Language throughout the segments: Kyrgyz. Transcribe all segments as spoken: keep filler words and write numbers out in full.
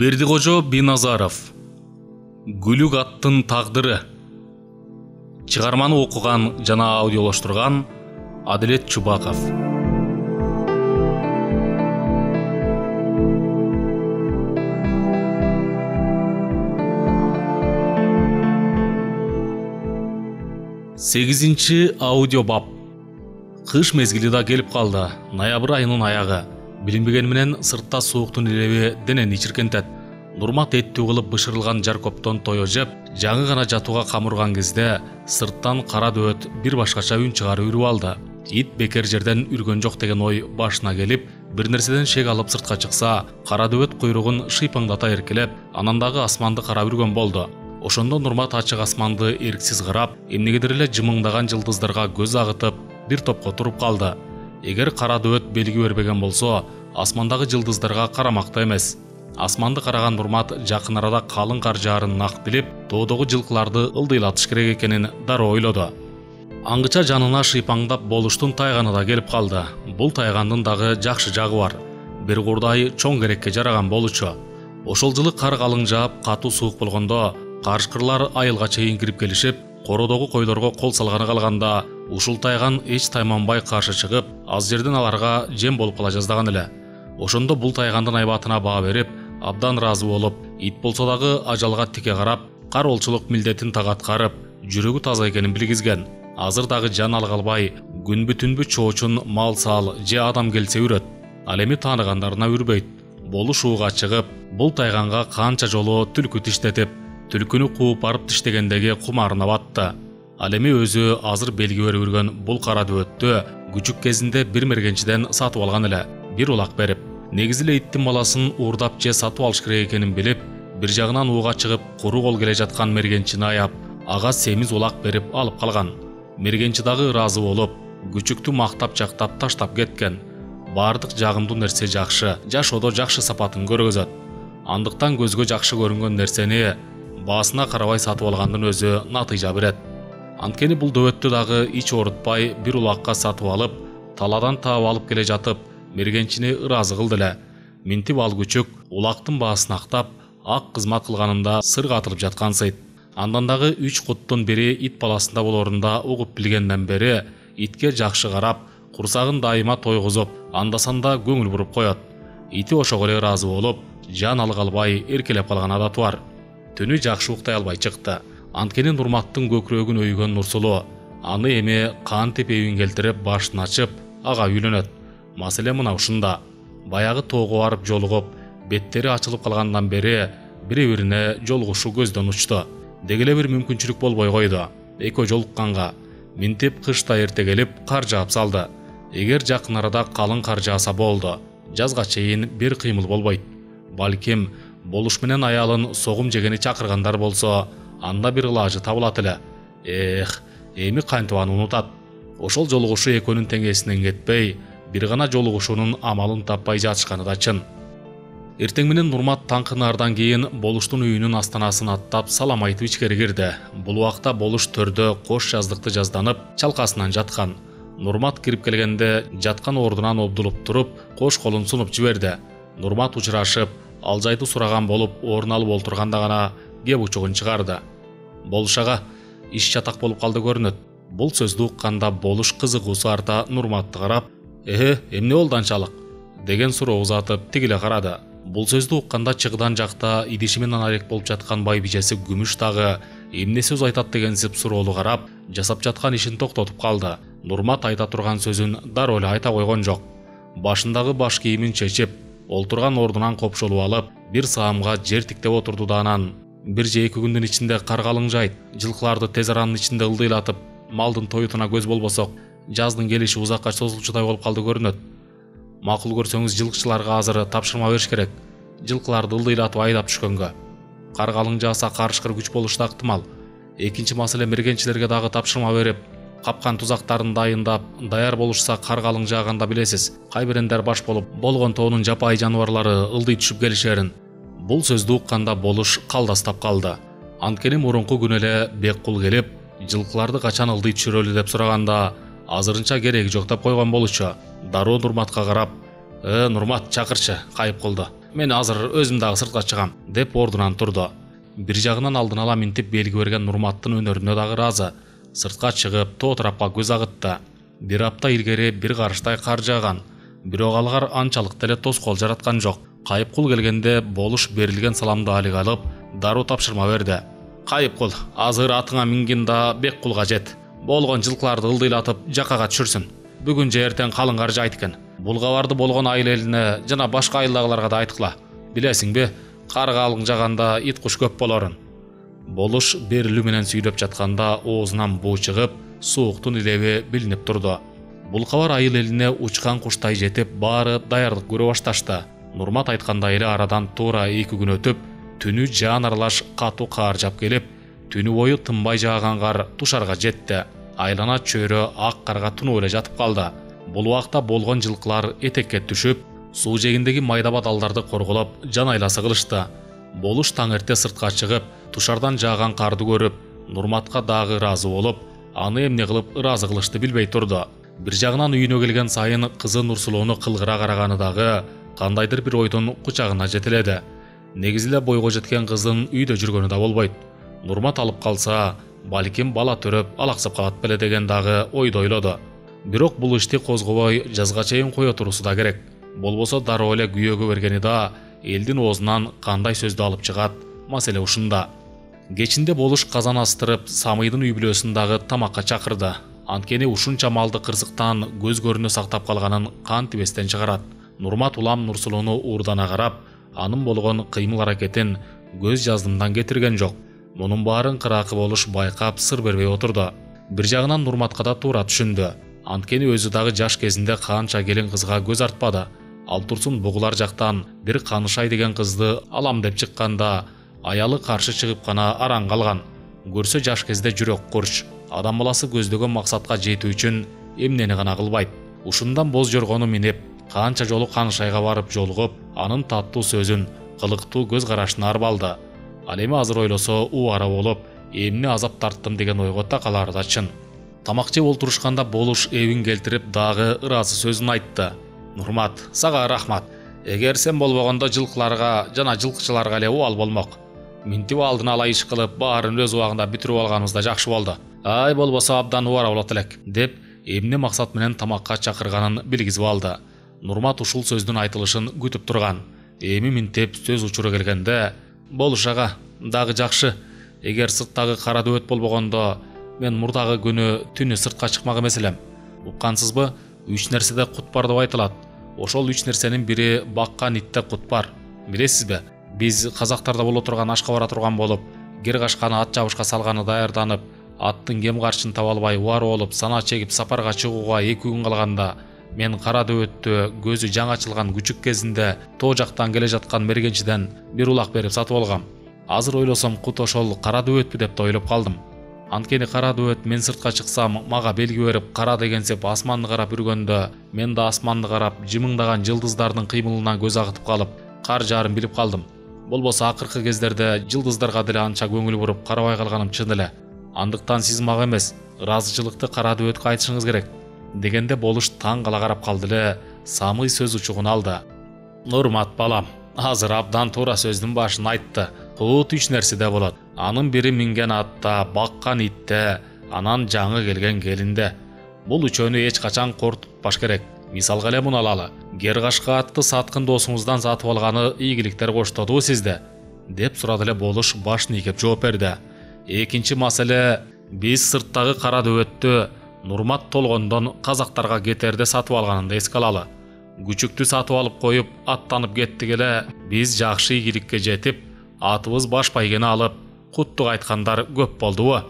Бердикожо Биназаров. Гүлүк аттын тагдыры. Чыгарманы окуган жана аудиолоштурган Адилет Чубаков. сегизинчи аудио бап. Кыш мезгили да келип калды. Ноябрь айынын аягы. Билинбеген менен сыртта сууктун илеби денени чиркентет. Нурмат эттүү кылып бышырылган жар коптон тое жеп, жаңы гана жатууга камырган кезде сырттан кара дөбөт бир башкача үн чыгарып үрүп алды. Ит бекер жерден үргөн жок деген ой башына келип, бир нерседен шек алып сыртка чыкса, кара дөбөт куйругун шыйпаңдата эркелеп, анан дагы асманды карап үргөн болду. Ошондо Нурмат ачык асманды эрксиз карап, эмнегедир эле жымыңдаган жылдыздарга көз агытып, бир топко туруп калды. Эгер кара дөбөт белги бербеген болсо, асмандагы жылдыздарга карамакта эмес. Асманды караган Нурмат жакын арада калың кар жаарын нак билип, тоодогу жылкыларды ылдыйлатыш керек экенин дароо ойлоду. Аңгыча жанына шыйпаңдап болуштун тайганы да келип калды. Бул тайгандын дагы жакшы жагы бар. Бир курдай чоң керекке жараган болчу. Ошол жылы кар калың жаап, катуу суук болгондо, карышкырлар айылга чейин кирип келишип, кородогу койлорго кол салганы калганда, ушул тайган эч тайманбай каршы чыгып, аз жерден аларга жем болуп кала жаздаган эле. Ошондо бул тайгандын айбатына баа берип, абдан разы болуп, ит болсо дагы ажалга тике карап, кар олчулук милдетин так аткарып, жүрөгү таза экенин билгизген. Азыр дагы жан алгалбай, күнбү түнбү чоочун мал сал же адам келсе үрөт. Ал эми тааныгандарына үрбөйт. Болуш ууга чыгып, бул тайганга канча жолу түлкү тиштетип, түлкүнү кууп барып тиштегендеги кумарына батты. Ал эми өзү азыр белги берип үргөн бул кара дөбөттү күчүк кезинде бир мергенчиден сатып алган эле, бир улак берип. Негизи эле иттин баласын уурдап же сатып алыш керек экенин билип, бир жагынан ууга чыгып, куру кол келе жаткан мергенчини аяп, ага семиз улак берип алып калган. Мергенчи дагы ыраазы болуп, күчүктү мактап жактап таштап кеткен. Бардык жагымдуу нерсе жакшы, жашоодо жакшы сапатын көргөзөт. Андыктан көзгө жакшы көрүнгөн нерсени баасына карабай сатып алгандын өзү натыйжа берет. Анткени бул дөбөттү дагы ич оорутпай бир улакка сатып алып, таладан таап алып келе жатып, мергенчини ыраазы кылды эле. Минтип ал күчүк улактын баасын актап, ак кызмат кылганымда сырга атылып жаткансыйт. Андан дагы үч куттун бири ит баласында болорунда угуп билгенден бери итке жакшы карап, курсагын дайыма тойгузуп, андасанда көңүл буруп коет. Ити ошого эле ыраазы болуп, жан алгалбай эркелеп калган адаты бар. Түнү жакшы уктай албай чыкты. Анткени Нурматтын көкүрөгүн өйгөн Нурсулуу аны эми кантип эбин келтирип башын ачып, ага үйлөнөт. Маселе мына ушунда. Баягы тоого барып жолугуп, беттери ачылып калгандан бери бири-бирине жолугушу көздөн учту. Дегеле бир мүмкүнчүлүк болбой койду. Экөө жолукканга минтип кышта эрте келип кар жаап салды. Эгер жакын арада калың кар жааса болду. Жазга чейин бир кыймыл болбойт. Балким болуш менен аялын согум жегени чакыргандар болсо, анда бир ылажы табылат эле. Эх, эми кантип аны унутат. Ошол жолугушу экөөнүн теңесинен кетпей, бир гана жолугушуунун амалын таппай жатышканы да чын. Эртең менен Нурмат таңкы нардан кийин Болуштун үйүнүн астанасын аттап салам айтып ичкери кирди. Бул убакта Болуш төрдө кош жаздыкты жазданып, чалкасынан жаткан. Нурмат кирип келгенде жаткан ордунан обдулуп туруп, кош колун сунуп жиберди. Нурмат учурашып, ал жайды сураган болуп, орун алып олтурганда гана кеп учугун чыгарды. Болуш ага, иш чатак болуп калды көрүнөт. Бул сөздү укканда Болуш кызыгуусу арта Нурматты карап, «Э, эмне болду анчалык?» деген суроо узатып тигиле карады. Бул сөздү укканда чыгыдан жакта идиши менен арек болуп жаткан байбижеси Күмүш дагы эмне сөз айтат дегенсип суроолу карап, жасап жаткан ишин токтотуп калды. Нурмат айта турган сөзүн дароо эле айта койгон жок. Башындагы баш кийимин чечип, олтурган ордунан копшолуп алып, бир саамга жер тиктеп отурду да анан бир же эки күндүн ичинде кар калың жайт, жылкыларды тез аранын ичинде ылдыйлатып, малдын тоютуна көз болбосок, жаздын келиши узакка созулчудай болуп калды көрүнөт. Макул көрсөңүз жылкычыларга азыр тапшырма бериш керек. Жылкыларды ылдыйлатып айдап түшкөнгө. Кар калың жааса карышкыр күч болушу да ыктымал. Экинчи маселе, мергенчилерге дагы тапшырма берип, капкан тузактарын дайындап, даяр болушса кар калың жааганда билесиз, кайбирендер баш болуп, болгон тоонун жапайы жаныбарлары ылдый түшүп келишерин. Бул сөздү укканда Болуш калдастап калды. Анткени мурунку күнү эле Беккул келип, жылкыларды качан ылдый түшүрөлү деп сураганда, азырынча кереги жок деп койгон болчу. Дароо Нурматка карап, «Э, Нурмат, чакырчы, кайып кылды. мен азыр өзүм дагы сыртка чыгам деп ордунан турду. Бир жагынан алдын ала минтип белги берген Нурматтын өнөрүнө дагы ыраазы. Сыртка чыгып тоо тарапка көз агытты. Бир апта илгери бир карыштай кар жааган. Бирок алгар анчалык деле тоскоол жараткан жок. Кайыпкул келгенде болуш берилген саламды алыга алып, дароо тапшырма берди. Кайыпкул, азыр атыңа мингин да Беккулга жет. Болгон жылкыларды ылдыйлатып жакага түшүрсүн. Бүгүн же эртең калың кар жайт экен. Бул кабарды болгон айыл элине жана башка айылдагыларга да айткыла. Билесиңби, кар калың жаганда ит куш көп болорун. Болуш берилүү менен сүйлөп жатканда оозунан буу чыгып, сууктун илеби билинип турду. Бул кабар айыл элине учкан куштай жетип, баары даярдык көрө башташты. Нурмат айткандай эле арадан туура эки күн өтүп, түнү жаан аралаш катуу кар жап келип, түнү бою тынбай жааган кар тушарга жетти. Айлана чөйрө ак карга тунуп эле жатып калды. Бул убакта болгон жылкылар этекке түшүп, суу жегиндеги майда баталдарды корголоп, жан айласы кылышты. Болуш таң эрте сыртка чыгып, тушардан жааган карды көрүп, Нурматка дагы ыраазы болуп, аны эмне кылып ыраазы кылышты билбей турду. Бир жагынан үйүнө келген сайын кызы Нурсулууну кылгыра караганы дагы кандайдыр бир ойдун кучагына жетеледи. Негизи эле бойго жеткен кыздын үйдө жүргөнү да болбойт. Нурмат алып калса, балким бала төрөп алаксап калат беле деген дагы ойду ойлоду. Бирок бул ишти козгобой жазга чейин кое турусу да керек. Болбосо дароо эле күйөөгө бергени да элдин оозунан кандай сөздү алып чыгат, маселе ушунда. Кечинде болуш казан астырып, Самыйдын үй бүлөсүн дагы тамакка чакырды. Анткени ушунча малды кырсыктан көз көрүнө сактап калганын кантип эстен чыгарат. Нурмат улам Нурсулууну уурдана карап, анын болгон кыймыл аракетин көз жаздымдан кетирген жок. Мунун баарын кыракы болуш байкап сыр бербей отурду. Бир жагынан Нурматка да туура түшүндү. Анткени өзү дагы жаш кезинде канча келин кызга көз артпады. Ал турсун бугулар жактан бир Канышай деген кызды алам деп чыкканда, аялы каршы чыгып гана араң калган. Көрсө жаш кезде жүрөк курч, адам баласы көздөгөн максатка жетүү үчүн эмнени гана кылбайт. Ушундан боз жоргону минип, канча жолу Канышайга барып жолугуп, анын таттуу сөзүн, кылыктуу көз карашын арбалды. Ал эми азыр ойлосо убара болуп, эмне азап тарттым деген ойго такалары да чын. Тамак жеп олтурушканда болуш эбин келтирип дагы ыраазы сөзүн айтты. Нурмат, сага рахмат. Эгер сен болбогондо жылкыларга жана жылкычыларга эле убал болмок. Минтип алдын ала иш кылып, баарын өз убагында бүтүрүп алганыбыз да жакшы болду. Ай болбосо абдан убара болот элек, деп эмне максат менен тамакка чакырганын билгизип алды. Нурмат ушул сөздүн айтылышын күтүп турган. Эми минтип сөз учуру келгенде, болуш ага, дагы жакшы. Эгер сырттагы кара дөбөт болбогондо, мен мурдагы күнү түнү сыртка чыкмак эмес элем. Уккансызбы? Үч нерседе кут бар деп айтылат. Ошол үч нерсенин бири баккан итте кут бар. Билесизби? Биз казактарда боло турган ашка бара турган болуп, кер кашканы ат жабышка салганы даярданып, аттын кем карчын таба албай убар болуп, сана чегип сапарга чыгууга эки күн калганда, мен кара дөбөттү көзү жаңы ачылган күчүк кезинде тоо жактан келе жаткан мергенчиден бир улак берип сатып алгам. Азыр ойлосом кут ошол кара дөбөтпү деп да ойлоп калдым. Анткени кара дөбөт мен сыртка чыксам мага белги берип кара дегенсеп асманды карап үргөндө, мен да асманды карап жымыңдаган жылдыздардын кыймылынан көз агытып калып, кар жаарын билип калдым. Болбосо акыркы кездерде жылдыздарга деле анча көңүл буруп карабай калганым чын эле. Андыктан сиз мага эмес, ыраазычылыкты кара дөбөткө айтышыңыз керек. Дегенде болуш таң кала карап калды эле, Самый сөз учугун алды. Нурмат балам, азыр абдан туура сөздүн башын айтты. Кут үч нерседе болот. Анын бири минген атта, баккан итте, анан жаңы келген келинде. Бул үчөөнү эч качан кортутпаш керек. Мисалга эле муну алалы. Кер кашка атты саткын досуңуздан сатып алганы ийгиликтер коштодубу сизде? Деп сурады эле болуш башын ийкеп жооп берди. Экинчи маселе, биз сырттагы кара дөбөттү Нурмат толгондон казактарга кетерде сатып алганын эске алалы. Күчүктү сатып алып коюп, аттанып кеттик эле, биз жакшы ийгиликке жетип, атыбыз баш байгени алып, куттук айткандар көп болдубу?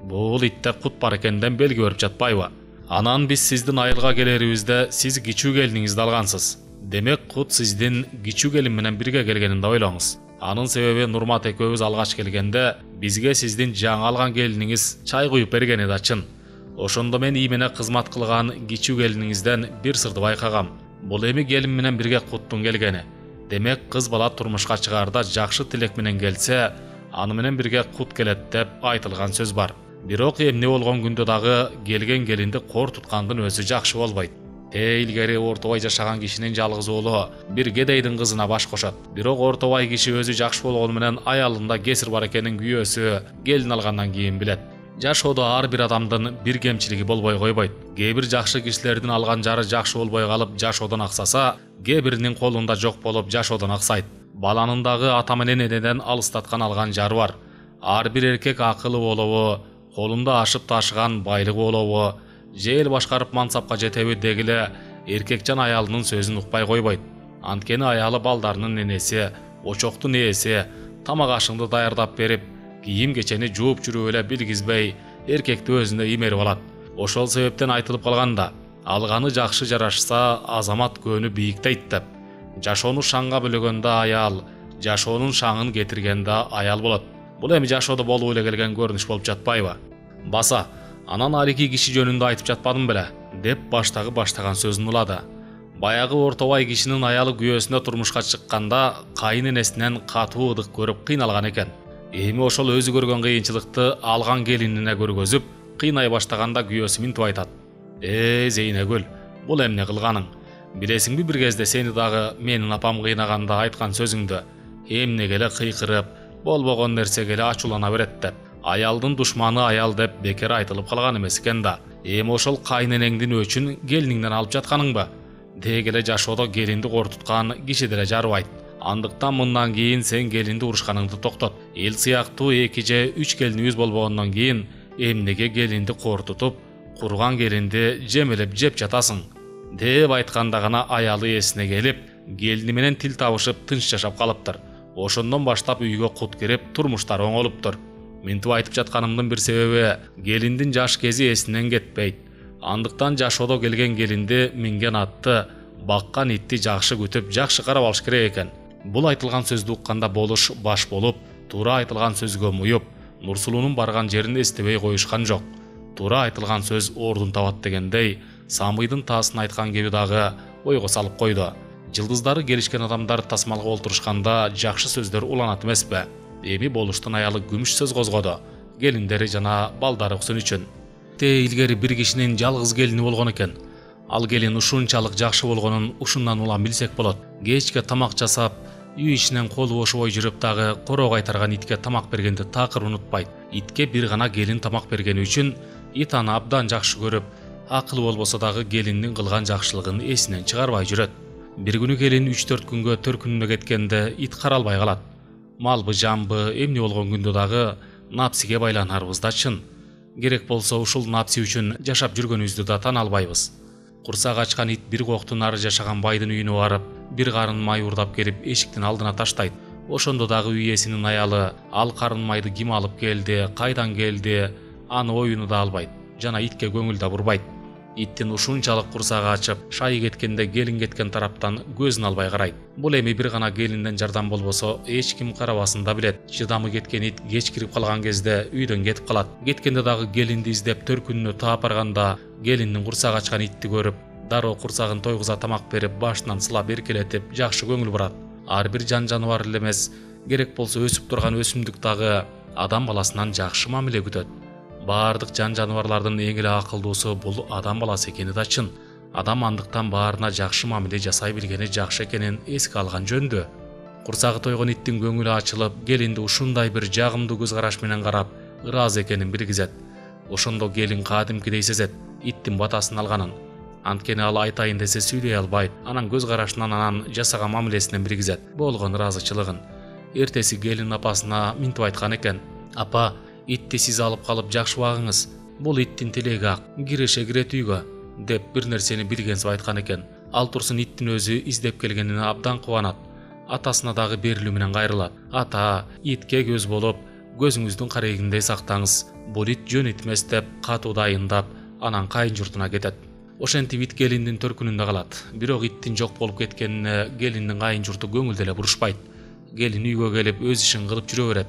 Бул итте кут бар экенден белги берип жатпайбы? Анан биз сиздин айылга келерибизде сиз кичүү келиниңизди алгансыз. Демек кут сиздин кичүү келин менен бирге келгенин да ойлоңуз. Анын себеби Нурмат экөөбүз алгач келгенде бизге сиздин жаңы алган келиниңиз чай куюп бергени да чын. Ошондо мен иймене кызмат кылган кичүү келиниңизден бир сырды байкагам. Бул эми келин менен бирге куттун келгени. Демек кыз бала турмушка чыгаарда жакшы тилек менен келсе, аны менен бирге кут келет деп айтылган сөз бар. Бирок эмне болгон күндө дагы келген келинди кор туткандын өзү жакшы болбойт. Те илгери Ортобай жашаган кишинин жалгыз уулу бир кедейдин кызына баш кошот. Бирок Ортобай киши өзү жакшы болгону менен аялында кесир бар экенин күйөөсү келин алгандан кийин билет. Жашоодо ар бир адамдын бир кемчилиги болбой койбойт. Кээ бир жакшы кишилердин алган жары жакшы болбой калып жашоодон аксаса, кээ биринин колунда жок болуп жашоодон аксайт. Баланын дагы ата менен энеден алыстаткан алган жары бар. Ар бир эркек акылы болобу, колунда ашып ташыган байлыгы болобу, же эл башкарып мансапка жетеби дегиле эркекчан аялынын сөзүн укпай койбойт. Анткени аялы балдарынын энеси, очоктун ээси, тамак ашыңды даярдап берип, кийим кечени жууп жүрүп эле билгизбей, эркекти өзүнө имерип алат. Ошол себептен айтылып калганда, алганы жакшы жарашса, азамат көөнү бийиктейт деп. Жашоону шаңга бөлөгөндө аял, жашоонун шаңын кетиргенде аял болот. Бул эми жашоодо болуп эле келген көрүнүш болуп жатпайбы? Баса, анан арики киши жөнүндө айтып жатпадым беле, деп баштагы баштаган сөзүн улады. Баягы Ортобай кишинин аялы күйөөсүнө турмушка чыкканда кайын энесинен катуу ыдык көрүп кыйналган экен. Эми ошол өзү көргөн кыйынчылыкты алган келинине көргөзүп, кыйнай баштаганда күйөөсү минтип айтат. Э, Зейнегүл, бул эмне кылганың? Билесиңби, бир кезде сени дагы менин апам кыйнаганда айткан сөзүңдү эмнеге эле кыйкырып, болбогон нерсеге эле ачуулана берет деп. Аялдын душманы аял деп бекер айтылып калган эмес экен да. Эми ошол кайненеңдин өчүн келиниңден алып жатканыңбы? Деги эле жашоодо келинди кортуткан киши деле жарыбайт. Андыктан мындан кийин сен келинди урушканыңды токтот. Эл сыяктуу эки же үч келинибиз болбогондон кийин эмнеге келинди кортутуп, курган келинди жемелеп жеп жатасың? Деп айтканда гана аялы эсине келип, келини менен тил табышып тынч жашап калыптыр. Ошондон баштап үйгө кут кирип, турмуштары оңолуптур. Мынтип айтып жатканымдын бир себеби, келиндин жаш кези эсинен кетпейт. Андыктан жашоодо келген келинди минген атты, баккан итти жакшы күтүп, жакшы карап алыш керек экен. Бул айтылган сөздү укканда болуш баш болуп, туура айтылган сөзгө муюп, Нурсулуунун барган жерин эстебей коюшкан жок. Туура айтылган сөз ордун табат дегендей, Самыйдын таасын айткан кеби дагы ойго салып койду. Жылдыздары келишкен адамдар тасмалга олтурушканда жакшы сөздөр уланат эмеспи? Эми болуштун аялы күмүш сөз козгоду, келиндери жана балдары уксун үчүн. Те илгери бир кишинин жалгыз келини болгон экен. Ал келин ушунчалык жакшы болгонун ушундан улам билсек болот. Кечке тамак жасап, үй ишинен колу бошобой жүрүп дагы короо кайтарган итке тамак бергенди такыр унутпайт. Итке бир гана келин тамак бергени үчүн ит аны абдан жакшы көрүп, акылы болбосо дагы келиндин кылган жакшылыгын эсинен чыгарбай жүрөт. Бир күнү келин үч төрт күнгө төркүнүнө кеткенде ит каралбай калат. Малбы, жамбы, эмне болгон күндө дагы напсиге байланарбыз да чын. Керек болсо ушул напси үчүн жашап жүргөнүбүздү да тана албайбыз. Курсак ачкан ит бир коктун ары жашаган байдын үйүнө барып, бир карын май урдап келип эшиктин алдына таштайт. Ошондо дагы үй ээсинин аялы ал карын майды ким алып келди, кайдан келди, аны оюну да албайт, жана итке көңүл да бурбайт. Иттин ушунчалык курсагы ачып, шайы кеткенде келин кеткен тараптан көзүн албай карайт. Бул эми бир гана келинден жардам болбосо эч ким карабасын да билет. Чыдамы кеткен ит кеч кирип калган кезде үйдөн кетип калат. Кеткенде дагы келинди издеп төркүнүнө таап барганда келиндин курсак ачкан итти көрүп, дароо курсагын тойгуза тамак берип, башынан сылап эркелетип, жакшы көңүл бурат. Ар бир жан жаныбар эле эмес, керек болсо өсүп турган өсүмдүк дагы адам баласынан жакшы мамиле күтөт. Бардык жан жаныбарлардын эң эле акылдуусу бул адам баласы экени да чын. Адам андыктан баарына жакшы мамиле жасай билгени жакшы экенин эске алган жөндө. Курсагы тойгон иттин көңүлү ачылып, келинди ушундай бир жагымдуу көз караш менен карап, ыраазы экенин билгизет. Ошондо келин кадимкидей сезет иттин батасын алганын. Анткени ал айтайын десе сүйлөй албайт. Анан көз карашынан, анан жасаган мамилесинен билгизет болгон ыраазычылыгын. Эртеси келин апасына минтип айткан экен: "Апа, итти сиз алып калып жакшы багыңыз. Бул иттин тилеги ак, киреше кирет үйгө", деп бир нерсени билгенсип айткан экен. Ал турсун иттин өзү издеп келгенине абдан кубанат. Атасына дагы берилүү менен кайрылат. "Ата, итке көз болуп, көзүңүздүн карегиндей сактаңыз. Бул ит жөн ит эмес" деп катуу дайындап, анан кайын журтуна кетет. Ошентип ит келиндин төркүнүндө калат. Бирок иттин жок болуп кеткенине келиндин кайын журту көңүл деле бурушпайт. Келин үйгө келип өз ишин кылып жүрө берет.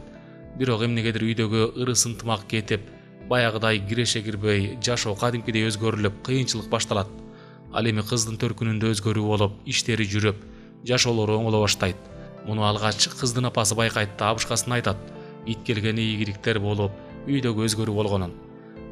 Бирок эмнегедир үйдөгү ырыс ынтымак кетип, баягыдай киреше кирбей, жашоо кадимкидей өзгөрүлүп, кыйынчылык башталат. Ал эми кыздын төркүнүндө өзгөрүү болуп, иштери жүрүп, жашоолору оңоло баштайт. Муну алгач кыздын апасы байкайт да абышкасына айтат. Ит келгени ийгиликтер болуп, үйдөгү өзгөрүү болгонун.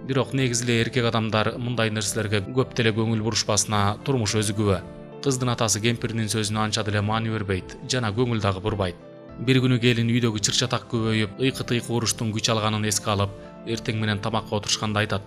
Бирок негизи эле эркек адамдар мындай нерселерге көп деле көңүл бурушпасына турмуш өзү күбө. Кыздын атасы кемпиринин сөзүнө анча деле маани бербейт жана көңүл дагы бурбайт. Бир күнү келин үйдөгү чыр-чатак көбөйүп, ыйкы-тыйкы уруштун күч алганын эске алып, эртең менен тамакка отурушканда айтат: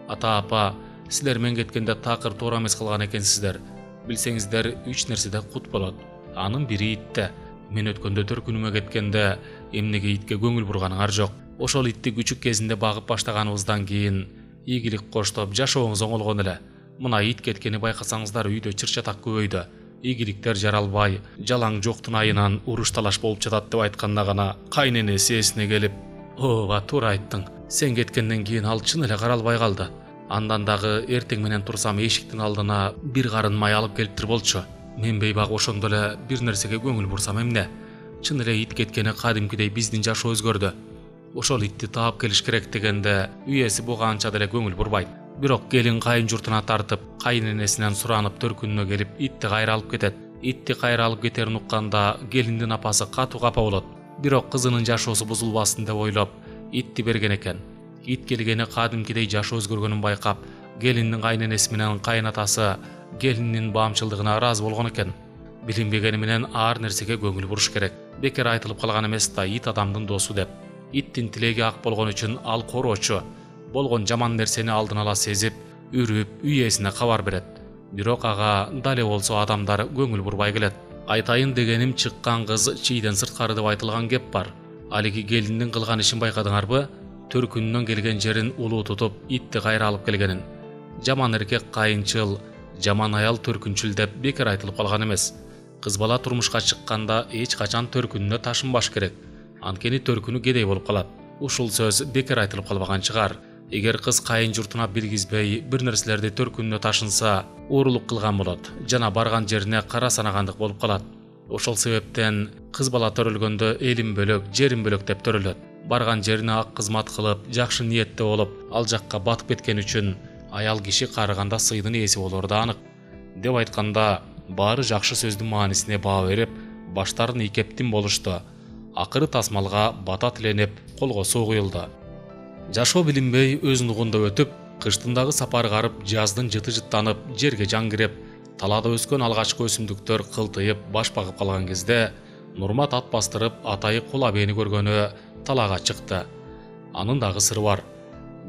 "Ата апа, силер мен кеткенде такыр туура эмес кылган экенсиздер. Билсеңиздер, үч нерседе кут болот. Анын бири итте. Мен өткөндө төркүнүмө кеткенде эмнеге итке көңүл бурганыңар жок. Ошол итти күчүк кезинде багып баштаганыбыздан кийин ийгилик коштоп жашооңуз оңолгон эле. Мына ит кеткени байкасаңыздар, үйдө чыр-чатак көбөйдү. Ийгиликтер жаралбай, жалаң жоктун айынан уруш талаш болуп жатат" деп айтканда гана кайненеси эсине келип: "Ооба, туура айттың. Сен кеткенден кийин ал чын эле каралбай калды. Андан дагы эртең менен турсам эшиктин алдына бир карын май алып келиптир болчу. Мен бейбак ошондо эле бир нерсеге көңүл бурсам эмне? Чын эле ит кеткени кадимкидей биздин жашоо өзгөрдү. Ошол итти таап келиш керек" дегенде үйеси буга анча деле көңүл бурбайт. Бирок келин кайын журтуна тартып, кайненесинен суранып төркүнүнө келип, итти кайра алып кетет. Итти кайра алып кетерин укканда келиндин апасы катуу капа болот. Бирок кызынын жашоосу бузулбасын деп ойлоп, итти берген экен. Ит келгени кадимкидей жашоо өзгөргөнүн байкап, келиндин кайненеси менен кайнатасы келиндин баамчылдыгына ыраазы болгон экен. Билинбегени менен ар нерсеге көңүл буруш керек. Бекер айтылып калган эмес да ит адамдын досу деп. Иттин тилеги ак болгон үчүн ал короочу. Болгон жаман нерсени алдын ала сезип, үрүп, үйесине кабар берет. Бирок ага дале болсо адамдар көңүл бурбай келет. Айтайын дегеним, чыккан кыз чийден сырткары деп айтылган кеп бар. Алиги келиндин кылган ишин байкадыңарбы? Төркүнүнөн келген жерин улуу тутуп, итти кайра алып келгенин. Жаман эркек кайынчыл, жаман аял төркүнчүл деп бекер айтылып калган эмес. Кыз бала турмушка чыкканда эч качан төркүнүнө ташынбаш керек. Анткени төркүнү кедей болуп калат. Ушул сөз бекер айтылып калбаган чыгар. Эгер кыз кайын журтуна билгизбей бир нерселерди төркүнүнө ташынса, оорулук кылган болот жана барган жерине кара санагандык болуп калат. Ошол себептен кыз бала төрөлгөндө элим бөлөк, жерим бөлөк деп төрөлөт. Барган жерине ак кызмат кылып, жакшы ниетте болуп, ал жакка батып кеткен үчүн аял киши карыганда сыйдын ээси болору да анык. Деп айтканда, баары жакшы сөздүн маанисине баа берип, баштарын ийкептин болушту. Акыры тасмалга бата тиленип, колго суу куюлду. Жашоо билинбей өз нугунда өтүп, кыштын дагы сапар карып, жаздын жыты жыттанып, жерге жан кирип, талаада өскөн алгачкы өсүмдүктөр кылтыйып, баш багып калган кезде Нурмат ат бастырып атайы Кул абийни көргөнү талаага чыкты. Анын дагы сыры бар.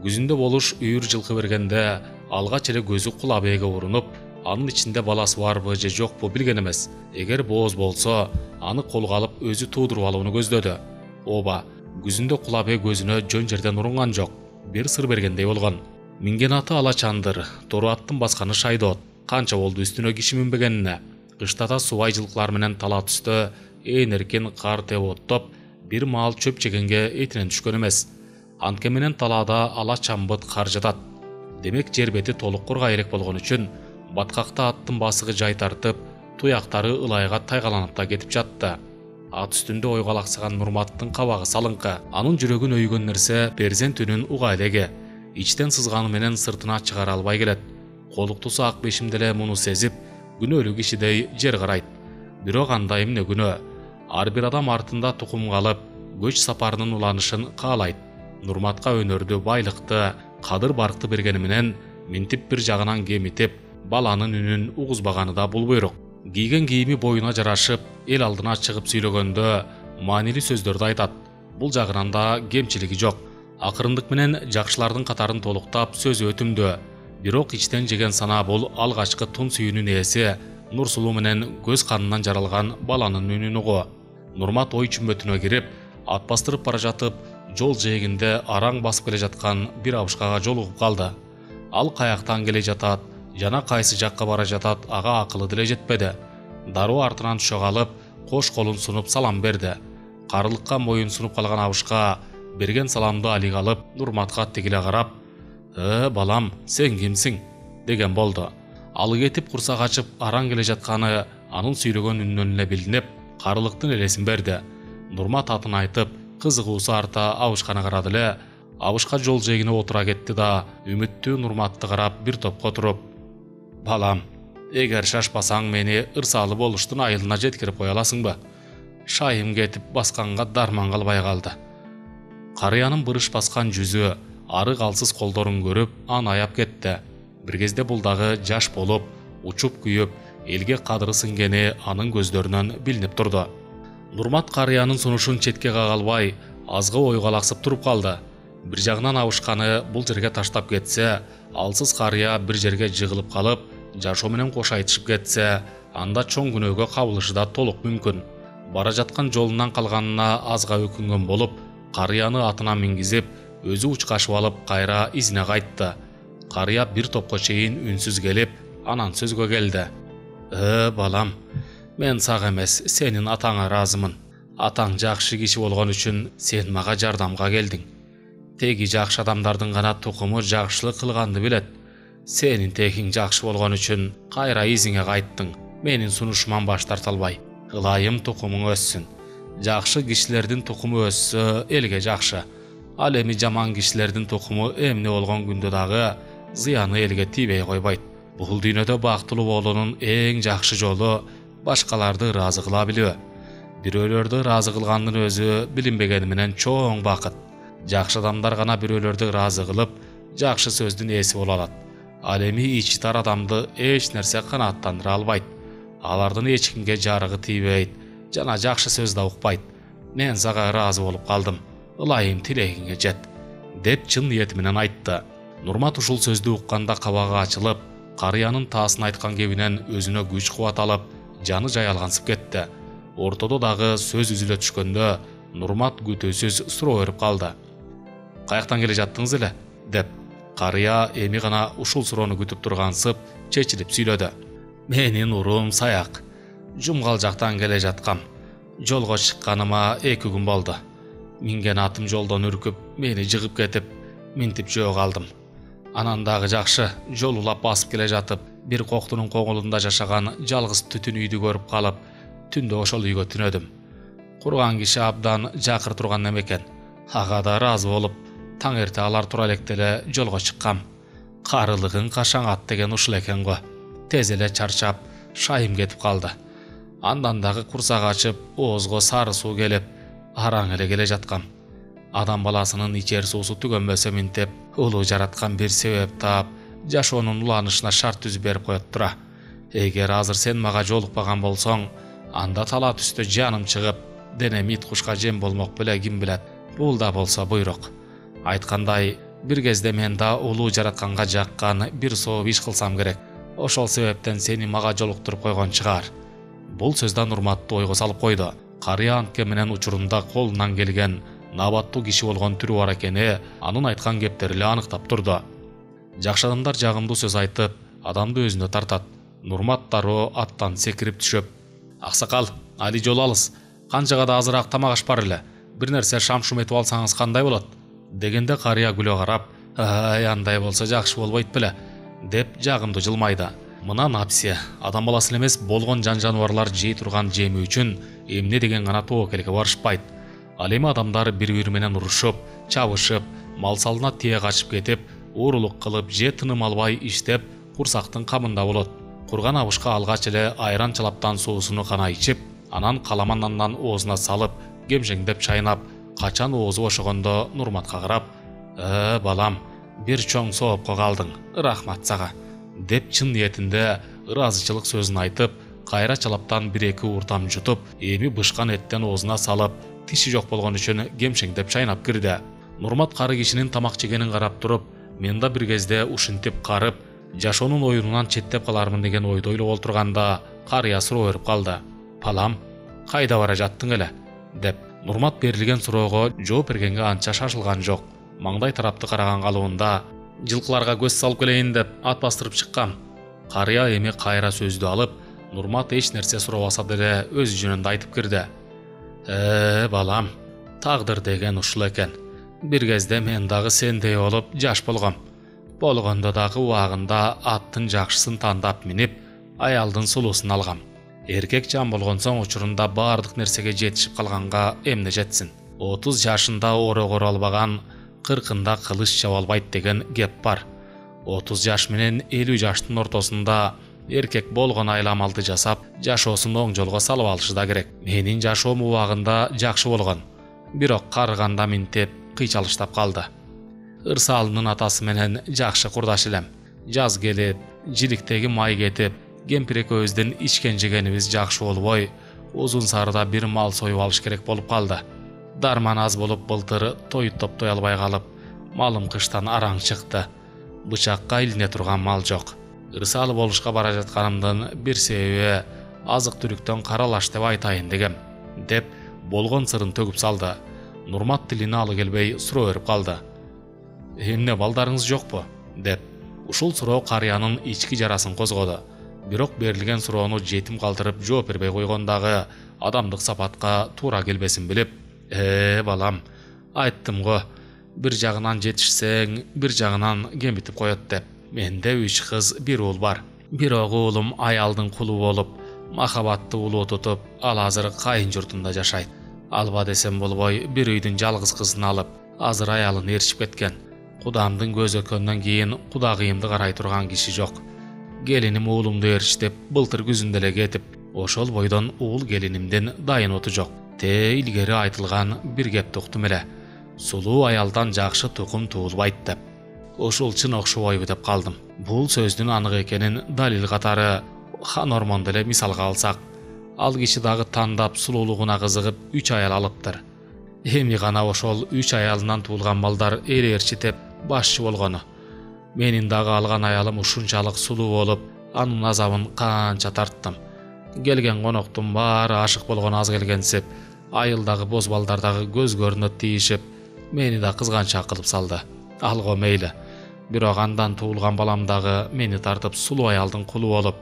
Күзүндө болуш үйүр жылкы бергенде алгач эле көзү Кул абийге урунуп, анын ичинде баласы барбы же жокпу билген эмес. Эгер бооз болсо, аны колго алып өзү туудуруп алууну көздөдү. Ооба, күзүндө Кул абий көзүнө жөн жерден урунган жок. Бир сыр бергендей болгон. Минген аты ала чандыр, тору аттын басканы шайдоот. Канча болду үстүнө киши минбегенине. Кыштада субай жылкылар менен тала түстө ээн эркин кар теп оттоп, бир маал чөп жегенге этинен түшкөн эмес. Антке менен талаада ала чамбыт кар жатат. Демек жер бети толук кургай элек болгон үчүн баткакта аттын басыгы жай тартып, туяктары ылайга тайгаланып да кетип жатты. Ат үстүндө ойго алаксаган Нурматтын кабагы салыңкы. Анын жүрөгүн өйгөн нерсе перзент үнүн уга элеги. Ичтен сызганы менен сыртына чыгара албай келет. Колуктусу ак бешим деле муну сезип, күнөөлүү кишидей жер карайт. Бирок анда эмне күнөө? Ар бир адам артында тукум калып, көч сапарынын уланышын каалайт. Нурматка өнөрдү, байлыкты, кадыр баркты бергени менен минтип бир жагынан кемитип, баланын үнүн угузбаганы да бул буйрук. Кийген кийими боюна жарашып, эл алдына чыгып сүйлөгөндө маанилүү сөздөрдү айтат. Бул жагынан да кемчилиги жок. Акырындык менен жакшылардын катарын толуктап, сөзү өтүмдүү. Бирок ичтен жеген сана бул алгачкы тун сүйүүнүн ээси, нур сулуу менен көз канынан жаралган баланын үнүн угуу. Нурмат ой чүмбөтүнө кирип, ат бастырып бара жатып, жол жээгинде араң басып келе жаткан бир абышкага жолугуп калды. Ал каяктан келе жатат жана кайсы жакка бара жатат ага акылы деле жетпеди. Дароо артынан түшө калып, кош колун сунуп салам берди. Карылыкка моюн сунуп калган абышка берген саламды алиге алып, Нурматка тигиле карап: "Э, балам, сен кимсиң?" деген болду. Ал кетип курсак ачып араң келе жатканы анын сүйлөгөн үнүнөн эле билинип, карылыктын элесин берди. Нурмат атын айтып, кызыгуусу арта абышканы карады эле, абышка жол жээгине отура кетти да, үмүттүү Нурматты карап бир топко туруп: "Балам, эгер шашпасаң мени ырсалы болуштун айылына жеткирип кое аласыңбы? Шайым кетип басканга дарман калбай калды." Карыянын бырыш баскан жүзү, арык алсыз колдорун көрүп аны аяп кетти. Бир кезде бул дагы жаш болуп, учуп күйүп, элге кадыры сиңгени анын көздөрүнөн билинип турду. Нурмат карыянын сунушун четке кага албай, азга ойго алаксып туруп калды. Бир жагынан абышканы бул жерге таштап кетсе, алсыз карыя бир жерге жыгылып калып, жашоо менен кош айтышып кетсе, анда чоң күнөөгө кабылышы да толук мүмкүн. Бара жаткан жолунан калганына азга өкүнгөн болуп, карыяны атына мингизип, өзү учкашып алып кайра изине кайтты. Карыя бир топко чейин үнсүз келип, анан сөзгө келди. «Э, балам, мен сага эмес, сенин атаңа ыраазымын. Атаң жакшы киши болгон үчүн сен мага жардамга келдиң. Теги жакшы адамдардын гана тукуму жакшылык кылганды билет. Сенин тегиң жакшы болгон үчүн кайра изиңе кайттың. Менин сунушуман баш тарта албай. Ылайым тукумуң өссүн. Жакшы кишилердин тукуму өссө элге жакшы. Ал эми жаман кишилердин тукуму эмне болгон күндө дагы зыяны элге тийбей койбойт. Бул дүйнөдө бактылуу болуунун эң жакшы жолу башкаларды ыраазы кыла билүү. Бирөөлөрдү ыраазы кылгандын өзү билинбегени менен чоң бакыт. Жакшы адамдар гана бирөөлөрдү ыраазы кылып, жакшы сөздүн ээси боло алат. Ал эми ичи тар адамды эч нерсе канааттандыра албайт. Алардын эч кимге жарыгы тийбейт жана жакшы сөз да укпайт. Мен сага ыраазы болуп калдым. Ылайым тилегиңе жет, деп чын ниети менен айтты. Нурмат ушул сөздү укканда кабагы ачылып, карыянын таасын айткан кебинен өзүнө күч кубат алып, жаны жаялгансып кетти. Ортодо дагы сөз үзүлө түшкөндө Нурмат күтүүсүз суроо берип калды. «Каяктан келе жаттыңыз эле?» деп. Карыя эми гана ушул суроону күтүп тургансып, чечилип сүйлөдү. «Менин урум Саяк. Жумгал жактан келе жаткам. Жолго чыкканыма эки күн болду. Минген атым жолдон үркүп, мени жыгып кетип, минтип жөө калдым. Анан дагы жакшы, жол улап басып келе жатып, бир коктунун коңулунда жашаган жалгыз түтүн үйдү көрүп калып, түндө ошол үйгө түнөдүм. Курган киши абдан жакыр турган немекен. Ага да ыраазы болуп, таң эрте алар тура электе эле жолго чыккам. Карылыгың кашаң ат деген ушул экен го. Тез эле чарчап, шайым кетип калды. Андан дагы курсак ачып, оозго сары суу келип, араң эле келе жаткам. Адам баласынын ичер суусу түгөнбөсө минтеп, улуу жараткан бир себеп таап, жашоонун уланышына шарт түзүп берип коет тура. Эгер азыр сен мага жолукпаган болсоң, анда тала түстө жаным чыгып, денем ит кушка жем болмок беле, ким билет. Бул да болсо буйрук. Айткандай, бир кезде мен да улуу жаратканга жаккан бир сооп иш кылсам керек. Ошол себептен сени мага жолуктуруп койгон чыгар». Бул сөздө Нурматты ойго салып койду. Карыя антке менен учурунда колунан келген набаттуу киши болгон түрү бар экени анын айткан кептери эле аныктап турду. Жакшы адамдар жагымдуу сөз айтып, адамды өзүнө тартат. Нурмат дароо аттан секирип түшүп: «Аксакал, али жол алыс. Канчага да азыраак тамак аш бар эле. Бир нерсе шам-шум этип алсаңыз кандай болот?» дегенде карыя күлө карап: «Ай, андай болсо жакшы болбойт беле?» деп жагымдуу жылмайды. Мына напси, адам баласы эмес болгон жан-жаныбарлар жей турган жеми үчүн эмне деген гана тоокелге барышпайт. Ал эми адамдар бири-бири менен урушуп, чабышып, мал салына тие качып кетип, уурулук кылып, же тыным албай иштеп, курсактын камында болот. Курган абышка алгач эле айран чалаптан суусуну гана ичип, анан каламан нандан оозуна салып, кемшеңдеп чайнап, качан оозу бошогондо Нурматка карап: «Э, балам, бир чоң соопко калдың. Рахмат сага», деп чын ниетинде ыраазычылык сөзүн айтып, кайра чалаптан бир-эки ууртам жутуп, эми бышкан эттен оозуна салып, тиши жок болгон үчүн кемшеңдеп чайнап кирди. Нурмат кары кишинин тамак жегенин карап туруп, мен да бир кезде ушинтип карып, жашоонун оюнунан четтеп калармын деген ойдо ойлоп олтурганда, карыя суроо берип калды: «Балам, кайда бара жаттың эле?» деп. Нурмат берилген суроого жооп бергенге анча шашылган жок. Маңдай тарапты караган калыбында: «Жылкыларга көз салып келейин деп ат бастырып чыккам». Карыя эми кайра сөздү алып, Нурмат эч нерсе суробаса деле өз жөнүндө айтып кирди: «Э, балам, тагдыр деген ушул экен. Бир кезде мен дагы сендей болуп жаш болгом. Болгондо дагы убагында аттын жакшысын тандап минип, аялдын сулуусун алгам. Эркек жан болгон соң учурунда баардык нерсеге жетишип калганга эмне жетсин. отуз жашында оро коро албаган кыркында кылыч чаба албайт деген кеп бар. отуз жаш менен элүү жаштын ортосунда эркек болгон айла-амалды жасап, жашоосун оң жолго салып алышы да керек. Менин жашоом убагында жакшы болгон, бирок карыганда минтеп кыйчалыштап калды. Ырсалымдын атасы менен жакшы курдаш элем. Жаз келип, жиликтеги май кетип, кемпир экөөбүздүн ичкен жегенибиз жакшы болбой, Узун Сарыда бир мал союп алыш керек болуп калды. Дарман аз болуп былтыр той топтой албай калып, малым кыштан араң чыкты. Бычакка илине турган мал жок. Ырсалы болушка бара жатканымдын бир себеби азык түлүктөн каралаш деп айтайын дегем, деп болгон сырын төгүп салды. Нурмат тилине алы келбей суроо берип калды. Эмне балдарыңыз жокпу? деп. Ушул суроо карыянын ички жарасын козгоду. Бирок берилген суроону жетим калтырып жооп бербей койгондагы адамдык сапатка туура келбесин билип, «Э, балам, айттым го, бир жагынан жетишсең, бир жагынан кемитип коет» деп. Менде үч кыз, бир уул бар. Бирок уулум аялдын кулу болуп, махабатты улуу тутуп, ал азыр кайын журтунда жашайт. Алба десем болбой, бир үйдүн жалгыз кызын алып, азыр аялын ээрчип кеткен. Кудамдын көзү өткөндөн кийин кудагыйымды карай турган киши жок. Келиним уулумду ээрчи деп былтыр күзүндө эле кетип, ошол бойдон уул келинимдин дайын оту жок. Те илгери айтылган бир кепти уктум эле. Сулуу аялдан жакшы тукум туулбайт деп. Ушул чын окшобойбу деп калдым. Бул сөздүн анык экенин далил катары хан Ормонду эле мисалга алсак, ал киши дагы тандап сулуулугуна кызыгып үч аял алыптыр. Эми гана ошол үч аялынан туулган балдар эл ээрчитип башчы болгону. Менин дагы алган аялым ушунчалык сулуу болуп, анын азабын канча тарттым. Келген коноктун баары ашык болгон аз келгенсип, айылдагы боз балдар дагы көз көрүнөт тийишип, мени да кызганчаак кылып салды. Алго мейли. Бирок андан туулган балам дагы мени тартып сулуу аялдын кулу болуп,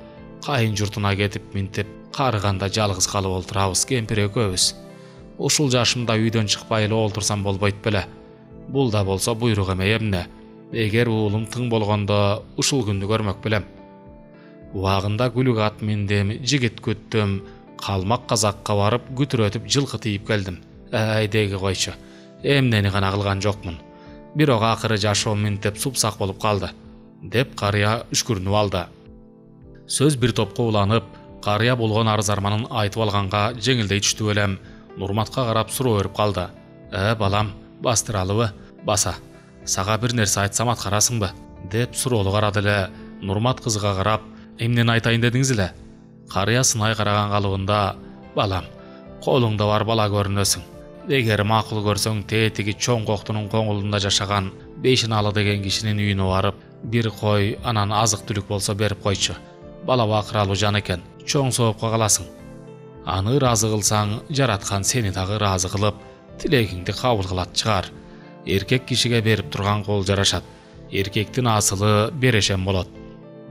кайын журтуна кетип минтип, карыганда жалгыз калып олтурабыз кемпир экөөбүз. Ушул жашымда үйдөн чыкпай эле олтурсам болбойт беле. Бул да болсо буйрук эмей эмне. Эгер уулум тың болгондо ушул күндү көрмөк белем. Убагында күлүк ат миндим, жигит күттүм, калмак казакка барып күтүрөтүп жылкы тийип келдим. Ай деги койчу. Эмнени гана кылган жокмун. Бирок акыры жашоом минтип супсак болуп калды, деп карыя үшкүрүнүп алды. Сөз бир топко уланып, карыя болгон арыз арманын айтып алганга жеңилдей түштү элем. Нурматка карап суроо берип калды. «Э, балам, бастыралыбы? Баса. Сага бир нерсе айтсам аткарасыңбы?» деп суроолу карады эле. Нурмат кызга карап, «Эмнени айтайын дедиңиз эле?» Карыя сынай караган калыбында, «Балам, колуңда бар бала көрүнөсүң. Эгер макул көрсөң, тетиги чоң коктунун коңулунда жашаган Бейшиналы деген кишинин үйүнө барып, бир кой, анан азык түлүк болсо берип койчу. Бала бакыралуу жан экен, чоң соопко каласың. Аны ыраазы кылсаң, жараткан сени дагы ыраазы кылып, тилегиңди кабыл кылат чыгар. Эркек кишиге берип турган кол жарашат. Эркектин асылы берешем болот»,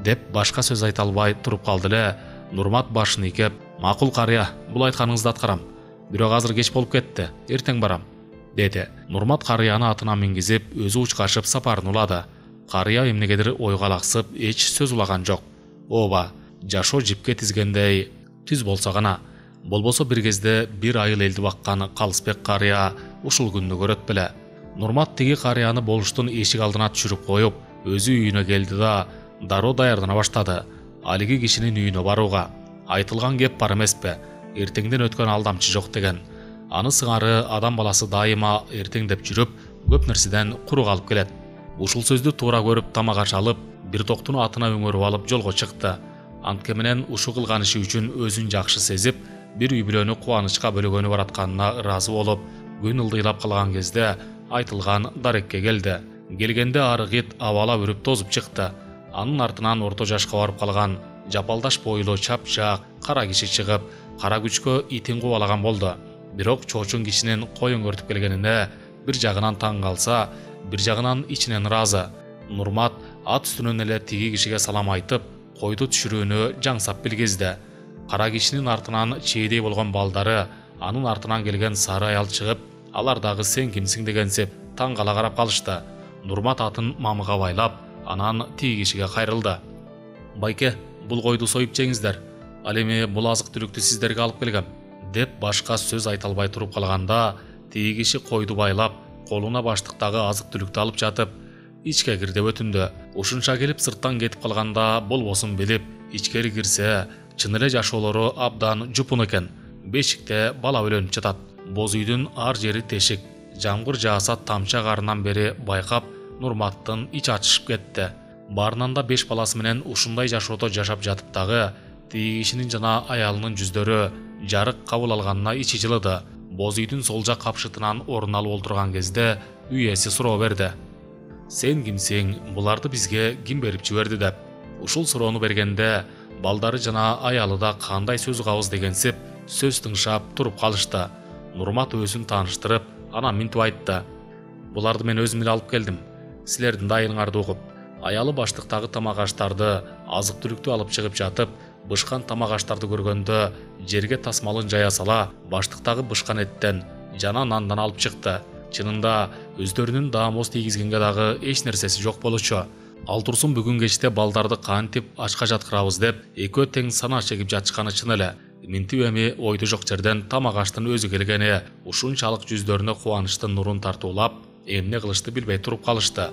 деп башка сөз айта албай туруп калды эле. Нурмат башын ийкеп, «Макул карыя, бул айтканыңызды аткарам. Бирок азыр кеч болуп кетти, эртең барам», деди. Нурмат карыяны атына мингизип, өзү учкашып сапарын улады. Карыя эмнегедир ойго алаксып, эч сөз улаган жок. Ооба, жашоо жипке тизгендей түз болсо гана. Болбосо бир кезде бир айыл элди баккан Калысбек карыя ушул күндү көрөт беле. Нурмат тиги карыяны болуштун эшик алдына түшүрүп коюп, өзү үйүнө келди да дароо даярдана баштады. Алиги кишинин үйүнө барууга. Айтылган кеп бар эмеспи? Эртеңден өткөн алдамчы жок деген. Аны сыңары адам баласы дайыма эртеңдеп жүрүп, көп нерседен куру калып келет. Ушул сөздү туура көрүп тамак аш алып, бир токтуну атына өңөрүп алып жолго чыкты. Антке менен ушул кылган иши үчүн өзүн жакшы сезип, бир үй бүлөнү кубанычка бөлөгөнү баратканына ыраазы болуп, күн ылдыйлап калган кезде айтылган дарекке келди. Келгенде арыгыт абалап үрүп тозуп чыкты. Анын артынан орто жашка барып калган жапалдаш бойлуу чапчак кара киши чыгып, кара күчкө итин кубалаган болду. Бирок чоочун кишинин кой өңөртүп келгенине бир жагынан таң калса, бир жагынан ичинен ыраазы. Нурмат ат үстүнөн эле тиги кишиге салам айтып, койду түшүрүүнү жаңсап билгизди. Кара кишинин артынан чейдей болгон балдары, анын артынан келген сары аял чыгып, алар дагы сен кимсиң дегенсип таң кала карап калышты. Нурмат атын мамыга байлап, анан тиги кишиге кайрылды. «Байке, бул койду союп жеңиздер. Ал эми бул азык түлүктү сиздерге алып келгем», деп башка сөз айта албай туруп калганда, тиги киши койду байлап, колуна баштыктагы азык түлүктү алып жатып, ичке кир деп өтүндү. Ушунча келип сырттан кетип калганда болбосун билип, ичкери кирсе, чын эле жашоолору абдан жупун экен. Бешикте бала өлөнүп жатат. Боз үйдүн ар жери тешик. Жамгыр жааса тамча карынан бери байкап, Нурматтын ич ачышып кетти. Баарынан да беш баласы менен ушундай жашоодо жашап жатып дагы тиги кишинин жана аялынын жүздөрү жарык кабыл алганына ичи жылыды. Боз үйдүн сол жак капшытынан орун алып олтурган кезде үй ээси суроо берди. Сен кимсиң, буларды бизге ким берип жиберди деп. Ушул суроону бергенде балдары жана аялы да кандай сөз угабыз дегенсип сөз тыңшап туруп калышты. Нурмат өзүн тааныштырып, анан минтип айтты. Буларды мен өзүм эле алып келдим. Силердин дайырыңарды угуп. Аялы баштыктагы тамак аштарды, азык түлүктү алып чыгып жатып, бышкан тамак аштарды көргөндө жерге тасмалын жая сала, баштыктагы бышкан эттен жана нандан алып чыкты. Чынында өздөрүнүн даамоз тийгизгенге дагы эч нерсеси жок болчу. Ал турсун бүгүн кечте балдарды кантип ачка жаткырабыз деп экөө тең санаа чегип жатышканы чын эле. Минтип эми ойду жок жерден тамак аштын өзү келгени ушунчалык жүздөрүнө кубанычтын нурун тартуулап, эмне кылышты билбей туруп калышты.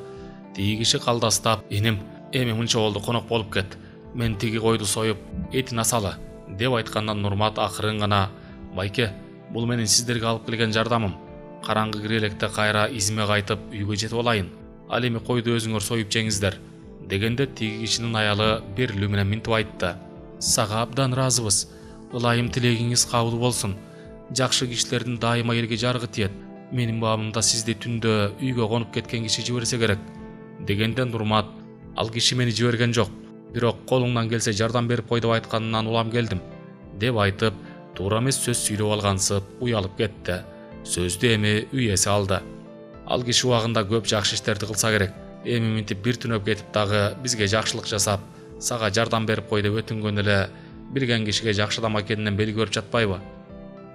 Тиги киши калдастап, "Эним, эми мынча болду, конок болуп кет. Мен тиги койду союп, этин асалы" деп айткандан Нурмат акырын гана "Байке, бул менин сиздерге алып келген жардамым. Караңгы кире электе кайра изиме кайтып үйгө жетип алайын. Ал эми койду өзүңөр союп жеңиздер" дегенде тиги кишинин аялы берилүү менен минтип айтты. "Сага абдан ыраазыбыз. Ылайым тилегиңиз кабыл болсун. Жакшы кишилердин дайыма элге жарыгы тиет. Менин баамымда сизди түндө үйгө конуп кеткен киши жиберсе керек" дегенде Нурмат "Ал киши мени жиберген жок. Бирок колуңдан келсе жардам берип кой деп айтканынан улам келдим" деп айтып, туура эмес сөз сүйлөп алгансып уялып кетти. Сөздү эми үй ээси алды. "Ал киши убагында көп жакшы иштерди кылса керек. Эми минтип бир түнөп кетип дагы бизге жакшылык жасап, сага жардам берип кой деп өтүнгөн эле билген кишиге жакшы адам экенинен белги берип жатпайбы?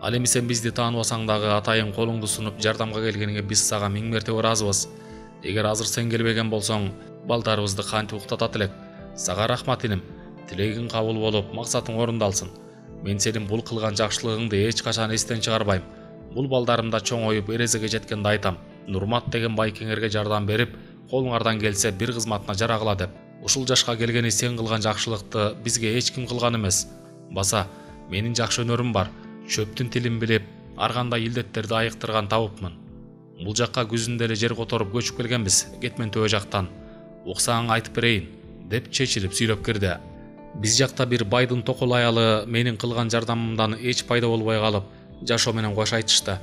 Ал эми сен бизди тааныбасаң дагы атайын колуңду сунуп жардамга келгениңе биз сага миң мертебе ыраазыбыз. Эгер азыр сен келбеген болсоң, балдарыбызды кантип уктатат элек? Сага рахмат иним. Тилегиң кабыл болуп, максатың орундалсын. Мен сенин бул кылган жакшылыгыңды эч качан эстен чыгарбайм. Бул балдарымда чоңоюп эрезеге жеткенде айтам. Нурмат деген байкеңерге жардам берип, колуңардан келсе бир кызматына жарагыла деп. Ушул жашка келгени сен кылган жакшылыкты бизге эч ким кылган эмес. Баса, менин жакшы өнөрүм бар. Чөптүн тилин билип, ар кандай илдеттерди айыктырган табыпмын. Бул жакка күзүндө эле жер которуп көчүп келгенбиз, Кетмен төбө жактан. Уксаң айтып берейин" деп чечилип сүйлөп кирди. "Биз жакта бир байдын токол аялы менин кылган жардамымдан эч пайда болбой калып, жашоо менен кош айтышты.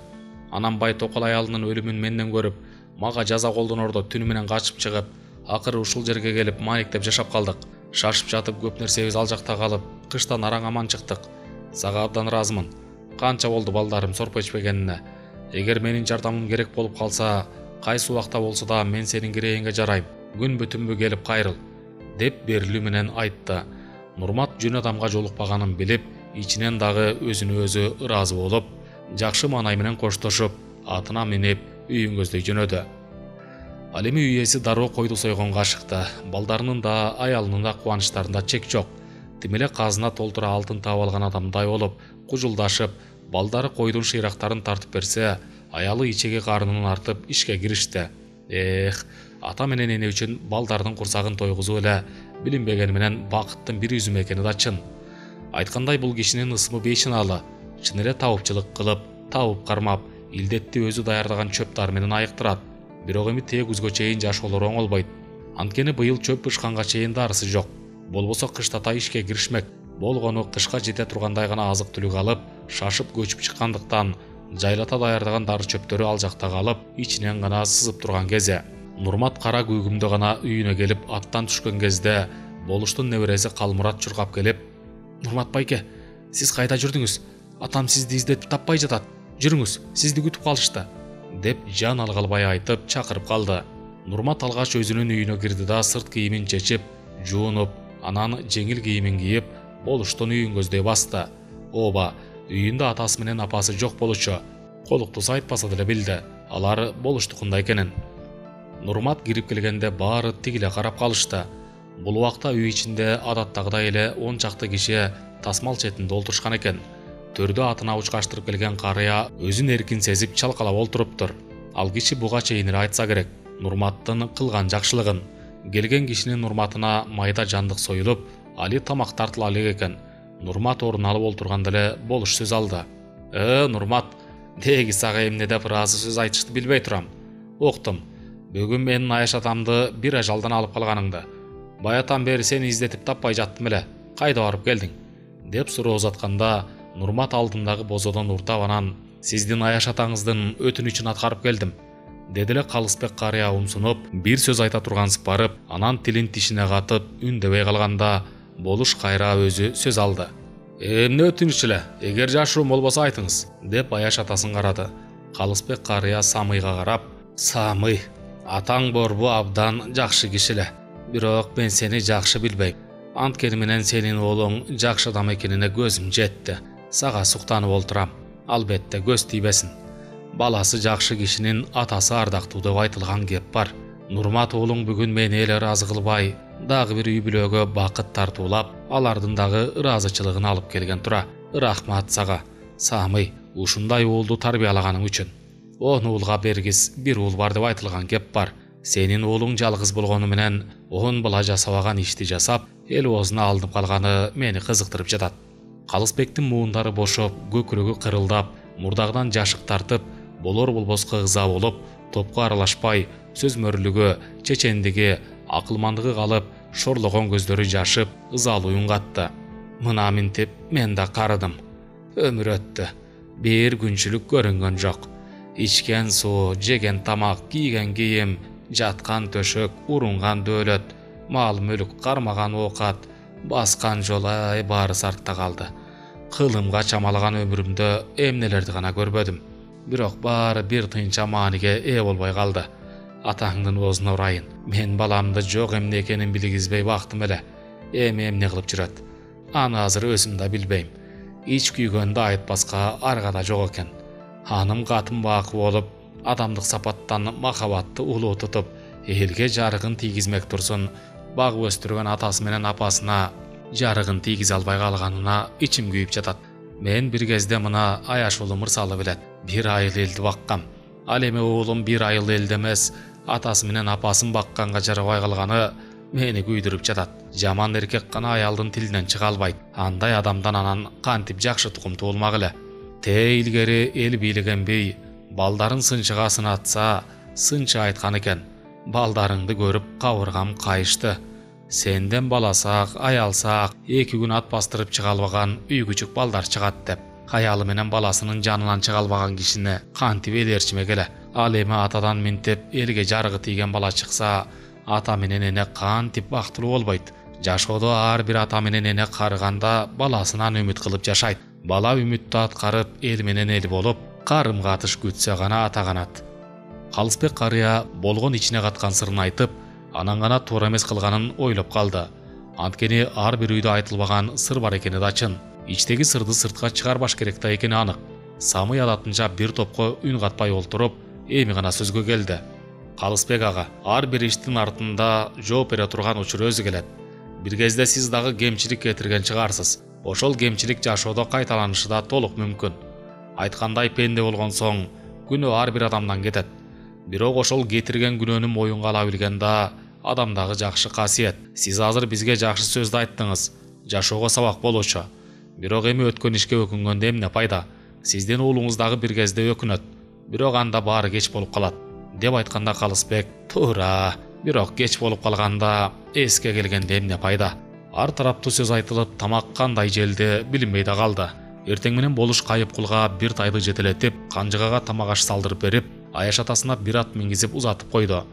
Анан бай токол аялынын өлүмүн менден көрүп, мага жаза колдонордо түнү менен качып чыгып, акыры ушул жерге келип маниктеп жашап калдык. Шашып жатып көп нерсебиз ал жакта калып, кыштан араң аман чыктык. Сага абдан ыраазымын. Канча болду балдарым сорпо ичпегенине. Эгер менин жардамым керек болуп калса, кайсы убакта болсо да мен сенин кирээиңге жарайм. Күнбү түнбү келип кайрыл" деп берилүү менен айтты. Нурмат жөн адамга жолукпаганын билип, ичинен дагы өзүнө өзү ыраазы болуп, жакшы маанай менен коштошуп, атына минип үйүн көздөй жөнөдү. Ал эми үй ээси дароо койду сойгонго ашыкты. Балдарынын да, аялынын да кубанычтарында чек жок. Тим эле казына толтура алтын таап алган адамдай болуп, кужулдашып, балдары койдун шыйрактарын тартып берсе, аялы ичеги карынын артып ишке киришти. Эх, ата менен эне үчүн балдардын курсагын тойгузуу эле билинбегени менен бакыттын бир үзүмү экени да чын. Айткандай бул кишинин ысымы бейшынаалы. Чын эле табыпчылык кылып, табып кармап, илдетти өзү даярдаган чөп дары менен айыктырат. Бирок эми тээ күзгө чейин жашоолор оңолбойт. Анткени быйыл чөп бышканга чейин дарысы жок. Болбосо кыштата ишке киришмек. Болгону кышка жете тургандай гана азык түлүк алып, шашып көчүп чыккандыктан жайлата даярдаган дары чөптөрү ал жакта калып, ичинен гана сызып турган кези. Нурмат кара күйгүмдө гана үйүнө келип аттан түшкөн кезде болуштун небереси Калмурат чуркап келип, "Нурмат байке, сиз кайда жүрдүңүз? Атам сизди издетип таппай жатат. Жүрүңүз, сизди күтүп калышты" деп жан алгалбай айтып чакырып калды. Нурмат алгач өзүнүн үйүнө кирди да сырт кийимин чечип, жуунуп, анан жеңил кийимин кийип, болуштун үйүн көздөй басты. Ооба, үйүндө атасы менен апасы жок болчу. Колуктусу айтпаса деле билди, алар болуштукунда экенин. Нурмат кирип келгенде баары тигиле карап калышты. Бул убакта үй ичинде адаттагыдай эле он чакты киши тасмал четинде олтурушкан экен. Төрдө атына учкаштырып келген карыя өзүн эркин сезип чалкалап олтуруптур. Ал киши буга чейин эле айтса керек Нурматтын кылган жакшылыгын. Келген кишинин урматына майда жандык союлуп, али тамак тартыла элек экен. Нурмат орун алып олтурганда эле болуш сөз алды. "Э, Нурмат, деги сага эмне деп ыраазы сөз айтышты билбей турам. Октум. Бүгүн менин Аяш атамды бир ажалдан алып калганыңды. Баятан бери сени издетип таппай жаттым эле. Кайда барып келдиң? Деп суроо узатканда Нурмат алдындагы бозодон уртап анан сиздин Аяш атаңыздын өтүнүчүн аткарып келдим. Деди эле Калысбек карыя умсунуп, бир сөз айта тургансып барып, анан тилин тишине катып үндөбөй калганда болуш кайра өзү сөз алды. Эмне өтүнүч эле, эгер жашыруум болбосо айтыңыз, деп Аяш атасын карады. Калысбек карыя Самыйга карап, Самый, атаң борбу абдан жакшы киши эле. Бирок мен сени жакшы билбейм. Анткени менен сенин уулуң жакшы адам экенине көзүм жетти. Сага суктанып олтурам. Албетте көз тийбесин. Баласы жакшы кишинин атасы ардактуу деп айтылган кеп бар. Нурмат уулуң бүгүн мени эле ыраазы кылбай, дагы бир үй бүлөгө бакыт тартуулап, алардын дагы ыраазычылыгын алып келген тура. Рахмат сага, Самый, ушундай уулду тарбиялаганың үчүн. Он уулга бергис бир уул бар деп айтылган кеп бар. Сенин уулуң жалгыз болгону менен он бала жасабаган ишти жасап, эл оозуна алынып калганы мени кызыктырып жатат. Калысбектин муундары бошоп, көкүрөгү кырылдап, мурдагыдан жашык тартып, болор болбоска ыза болуп, топко аралашпай, сөз мөрлүгү, чечендиги, акылмандыгы калып, шорлогон көздөрү жашып, ызалуу үн катты. Мына минтип мен да карыдым. Өмүр өттү. Бир күнчүлүк көрүнгөн жок. Ичкен суу, жеген тамак, кийген кийим, жаткан төшөк, урунган дөөлөт, мал мүлүк, кармаган оокат, баскан жол ай баары артта калды. Кылымга чамалаган өмүрүмдө эмнелерди гана көрбөдүм. Бирок баары бир тыйынча мааниге ээ болбой калды. Атаңдын оозуна урайын. Мен баламды жок эмне экенин билгизбей бактым эле. Эми эмне кылып жүрөт? Аны азыр өзүм да билбейм. Ич күйгөндү айтпаска аргада жок экен. Ханым катын бакы болуп, адамдык сапаттан махабатты улуу тутуп, элге жарыгын тийгизмек турсун, багып өстүргөн атасы менен апасына жарыгын тийгизе албай калганына ичим күйүп жатат. Мен бир кезде мына Аяш уулу мырзалы билет, бир айыл элди баккам. Ал эми уулум бир айыл элди эмес, атасы менен апасын бакканга жарабай калганы мени күйдүрүп жатат. Жаман эркек гана аялдын тилинен чыга албайт. Андай адамдан анан кантип жакшы тукум туулмак эле. Те илгери эл бийлеген бий балдарын сынчыга сынатса, сынчы айткан экен. Балдарыңды көрүп кабыргам кайышты. Сенден баласак, аялсак, эки күн ат бастырып чыга албаган үй күчүк балдар чыгат деп. Аялы менен баласынын жанынан чыга албаган кишини кантип элерчимек эле. Ал эми атадан минтип элге жарыгы тийген бала чыкса, ата менен эне кантип бактылуу болбойт. Жашоодо ар бир ата менен эне карыганда баласынан үмүт кылып жашайт. Бала үмүттү аткарып, эл менен эл болуп, карым катыш күтсө гана ата канат. Калысбек карыя болгон ичине каткан сырын айтып, анан гана туура эмес кылганын ойлоп калды. Анткени ар бир үйдө айтылбаган сыр бар экени да чын. Ичтеги сырды сыртка чыгарбаш керек да экени анык. Самый адатынча бир топко үн катпай олтуруп, эми гана сөзгө келди. Калысбек ага, ар бир иштин артында жооп бере турган учур өзү келет. Бир кезде сиз дагы кемчилик кетирген чыгарсыз. Ошол кемчилик жашоодо кайталанышы да толук мүмкүн. Айткандай пенде болгон соң, күнөө ар бир адамдан кетет. Бирок ошол кетирген күнөөнү моюнга ала билген да адамдагы жакшы касиет. Сиз азыр бизге жакшы сөздү айттыңыз, жашоого сабак болуучу. Бирок эми өткөн ишке өкүнгөндө эмне пайда? Сиздин уулуңуз дагы бир кезде өкүнөт. Бирок анда баары кеч болуп калат. Деп айтканда Калысбек, туура, бирок кеч болуп калганда эске келгенде эмне пайда? Ар тараптуу сөз айтылып, тамак кандай желди билинбей да калды. Эртең менен болуш кайып кулга бир тайды жетелетип, канжыгага тамак аш салдырып берип, Аяш атасына бир ат мингизип узатып койду.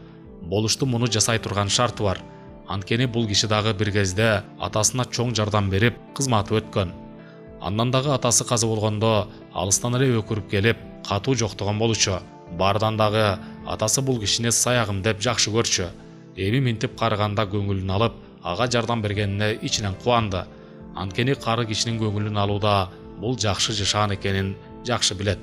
Болушту муну жасай турган шарты бар. Анткени бул киши дагы бир кезде атасына чоң жардам берип, кызматы өткөн. Андан дагы атасы каза болгондо алыстан эле өкүрүп келип, катуу жоктогон болчу. Бардан дагы атасы бул кишини саягым деп жакшы көрчү. Эми минтип карыганда көңүлүн алып, ага жардам бергенине ичинен кубанды. Анткени кары кишинин көңүлүн алууда бул жакшы жашаан экенин жакшы билет.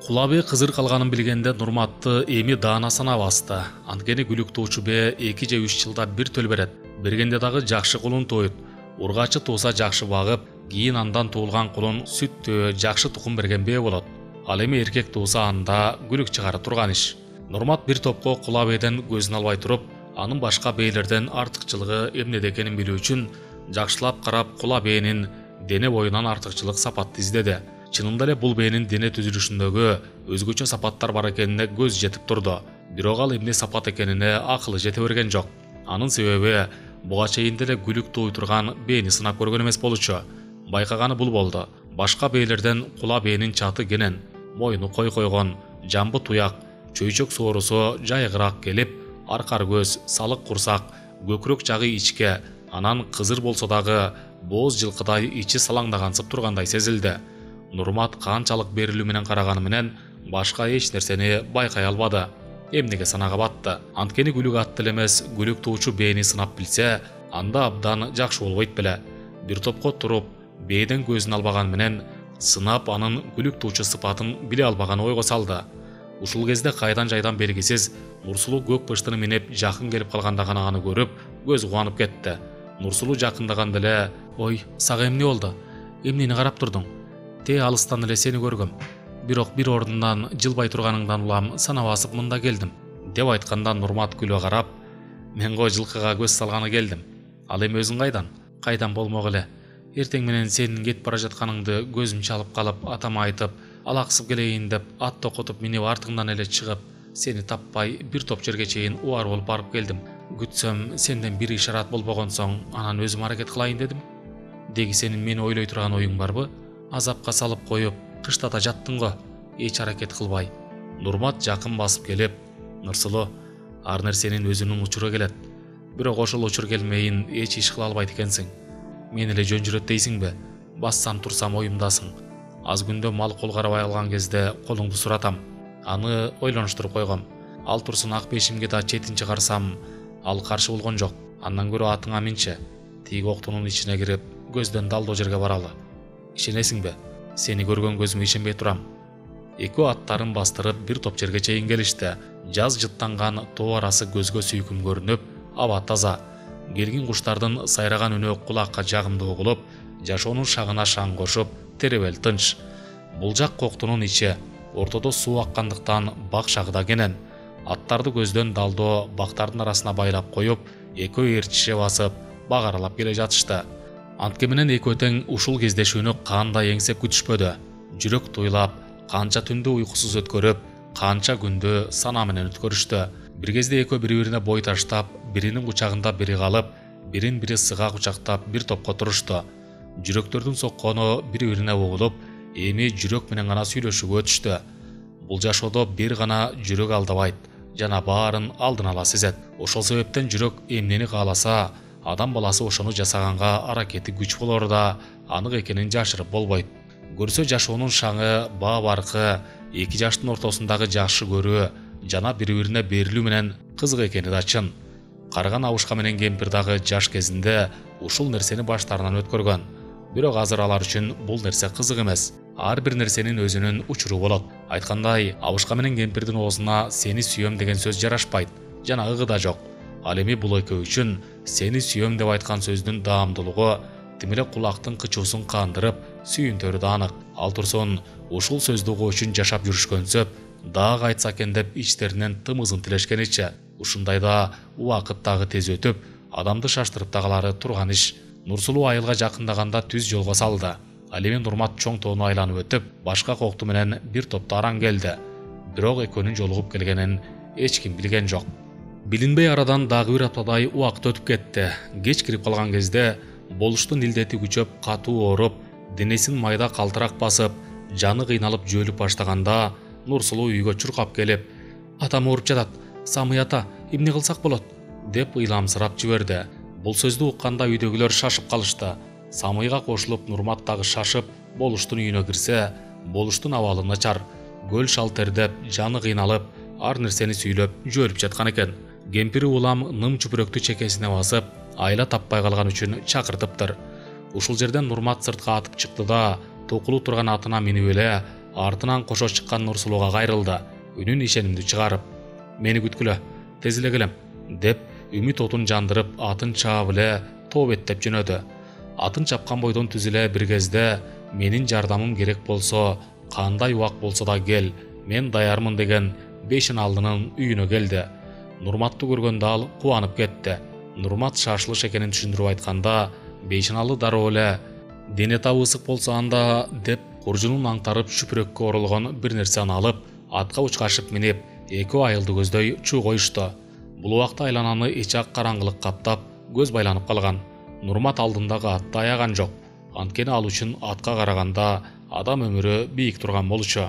Кулабе кызыр калганын билгенде Нурматты эми даана сана басты. Анткени күлүктуучу бе эки же үч жылда бир төл берет. Бергенде дагы жакшы кулун тоойт. Ургачы тууса жакшы багып, кийин андан туулган кулун сүттүү, жакшы тукум берген бе болот. Ал эми эркек тууса анда күлүк чыгара турган иш. Нурмат бир топко Кулабеден көзүн албай туруп, анын башка бейлерден артыкчылыгы эмнеде экенин билүү үчүн жакшылап карап Кулабенин дене боюнан артыкчылык сапатты издеди. Чынында эле бул бээнин дене түзүлүшүндөгү өзгөчө сапаттар бар экенине көз жетип турду. Бирок ал эмне сапат экенине акылы жете берген жок. Анын себеби буга чейин деле күлүк тууй турган бээни сынап көргөн эмес болчу. Байкаганы бул болду. Башка бээлерден кула бээнин чаты кенен, мойну кой койгон, жамбы туяк, чөйчөк соорусу жайгыраак келип, аркар көз, салык курсак, көкүрөк жагы ичке, анан кызыр болсо дагы бооз жылкыдай ичи салаңдагансып тургандай сезилди. Нурмат канчалык берилүү менен караганы менен башка эч нерсени байкай албады. Эмнеге санага батты. Анткени күлүк ат деле эмес, күлүк туучу бээни сынап билсе, анда абдан жакшы болбойт беле. Бир топко туруп, бээден көзүн албаган менен сынап анын күлүк туучу сыпатын биле албаганы ойго салды. Ушул кезде кайдан жайдан белгисиз Нурсулуу көк быштыны минеп жакын келип калганда гана аны көрүп, көз кубанып кетти. Нурсулуу жакындаганда эле: "Ой, сага эмне болду? Эмнени карап турдуң? Те алыстан эле сени көргөм. Бирок бир ордундан жылбай турганыңдан улам санап басып мында келдим" деп айтканда Нурмат күлө карап: "Мен го жылкыга көз салганы келдим. Ал эми өзүң кайдан?" "Кайдан болмок эле. Эртең менен сенин кетип бара жатканыңды көзүм чалып калып, атама айтып, алаксып келейин деп ат токотуп минип артыңдан эле чыгып, сени таппай бир топ жерге чейин убар болуп барып келдим. Күтсөм сенден бир ишарат болбогон соң, анан өзүм аракет кылайын дедим. Деги сенин мени ойлой турган оюң барбы? Азапка салып коюп, кыштата жаттың го, эч аракет кылбай." Нурмат жакын басып келип: "Нурсулуу, ар нерсенин өзүнүн учуру келет. Бирок ошол учур келмейин эч иш кыла албайт экенсиң. Мен эле жөн жүрөт дейсиңби? Бассам турсам оюмдасың. Аз күндө мал кол карабай алган кезде колуңду суратам. Аны ойлонуштуруп койгом. Ал турсун ак бешимге да четин чыгарсам, ал каршы болгон жок. Андан көрө атыңа минчи. Тиги октунун ичине кирип, көздөн далдоо жерге баралы. Ишенесиңби? Сени көргөн көзүмө ишенбей турам." Экөө аттарын бастырып бир топ жерге чейин келишти. Жаз жыттанган тоо арасы көзгө сүйкүм көрүнүп, аба таза. Келгин куштардын сайраган үнү кулакка жагымдуу угулуп, жашоонун шагына шаң кошуп, теребел тынч. Бул жак коктунун ичи, ортодо суу аккандыктан бак шагы да кенен. Аттарды көздөн далдоо бактардын арасына байлап коюп, экөө ээрчише басып, бак аралап келе жатышты. Антке менен экөө тең ушул кездешүүнү кандай эңсеп күтүшпөдү. Жүрөк туйлап, канча түндү уйкусуз өткөрүп, канча күндү санаа менен өткөрүштү. Бир кезде экөө бири-бирине бой таштап, биринин кучагында бири калып, бирин бири сыга кучактап бир топко турушту. Жүрөктөрдүн соккону бири-бирине угулуп, эми жүрөк менен гана сүйлөшүүгө өтүштү. Бул жашоодо бир гана жүрөк алдабайт, жана баарын алдын ала сезет. Ошол себептен жүрөк эмнени кааласа, адам баласы ошону жасаганга аракети күч болор да, анык экенин жашырып болбойт. Көрсө жашоонун шаңы, баа баркы, эки жаштын ортосундагы жакшы көрүү жана бири-бирине берилүү менен кызык экени да чын. Карган Абушка менен кемпир дагы жаш кезинде ушул нерсени баштарынан өткөргөн. Бирок азыр алар үчүн бул нерсе кызык эмес. Ар бир нерсенин өзүнүн учуру болот. Айткандай, Абушка менен кемпирдин оозуна "сени сүйөм" деген сөз жарашпайт, жана ыгы да жок. Ал эми бул экөө үчүн "сени сүйөм" деп айткан сөздүн даамдуулугу тим эле кулактын кычуусун кандырып, сүйүнтөрү да анык. Ал турсун ушул сөздү угуу үчүн жашап жүрүшкөнсөп, дагы айтса экен деп ичтеринен тымызын тилешкеничи. Ушундайда убакыт дагы тез өтүп, адамды шаштырып да калары турган иш. Нурсулуу айылга жакындаганда түз жолго салды. Ал эми Нурмат чоң тоону айланып өтүп, башка кокту менен бир топто араң келди. Бирок экөөнүн жолугуп келгенин эч ким билген жок. Билинбей арадан дагы бир аптадай убакыт өтүп кетти. Кеч кирип калган кезде болуштун илдети күчөп, катуу ооруп, денесин майда калтырак басып, жаны кыйналып жөөлүп баштаганда Нурсулуу үйгө чуркап келип: "Атам ооруп жатат. Самый ата, эмне кылсак болот?" деп ыйламсырап жиберди. Бул сөздү укканда үйдөгүлөр шашып калышты. Самыйга кошулуп Нурмат дагы шашып, болуштун үйүнө кирсе, болуштун абалы начар. Көл шал тердеп, жаны кыйналып, ар нерсени сүйлөп жөөлүп жаткан экен. Кемпири улам ным чүпүрөктү чекесине басып, айла таппай калган үчүн чакыртыптыр. Ушул жерден Нурмат сыртка атып чыкты да, токулу турган атына минип эле, артынан кошо чыккан Нурсулууга кайрылды, үнүн ишенимдүү чыгарып: "Мени күткүлө, тез эле келем" деп үмүт отун жандырып, атын чаап эле тоо беттеп жөнөдү. Атын чапкан бойдон түз эле бир кезде "менин жардамым керек болсо, кандай убак болсо да кел, мен даярмын" деген бешин алдынын үйүнө келди. Нурматты көргөндө ал кубанып кетти. Нурмат шашылыш экенин түшүндүрүп айтканда, бейшиналы дароо эле "дене табы ысык болсо анда" деп куржунун аңтарып шүпүрөккө оролгон бир нерсени алып, атка учкашып минип, эки айылды көздөй чуу коюшту. Бул убакта айлананы ичак караңгылык каптап, көз байланып калган. Нурмат алдындагы атты аяган жок. Анткени ал үчүн атка караганда адам өмүрү бийик турган болчу.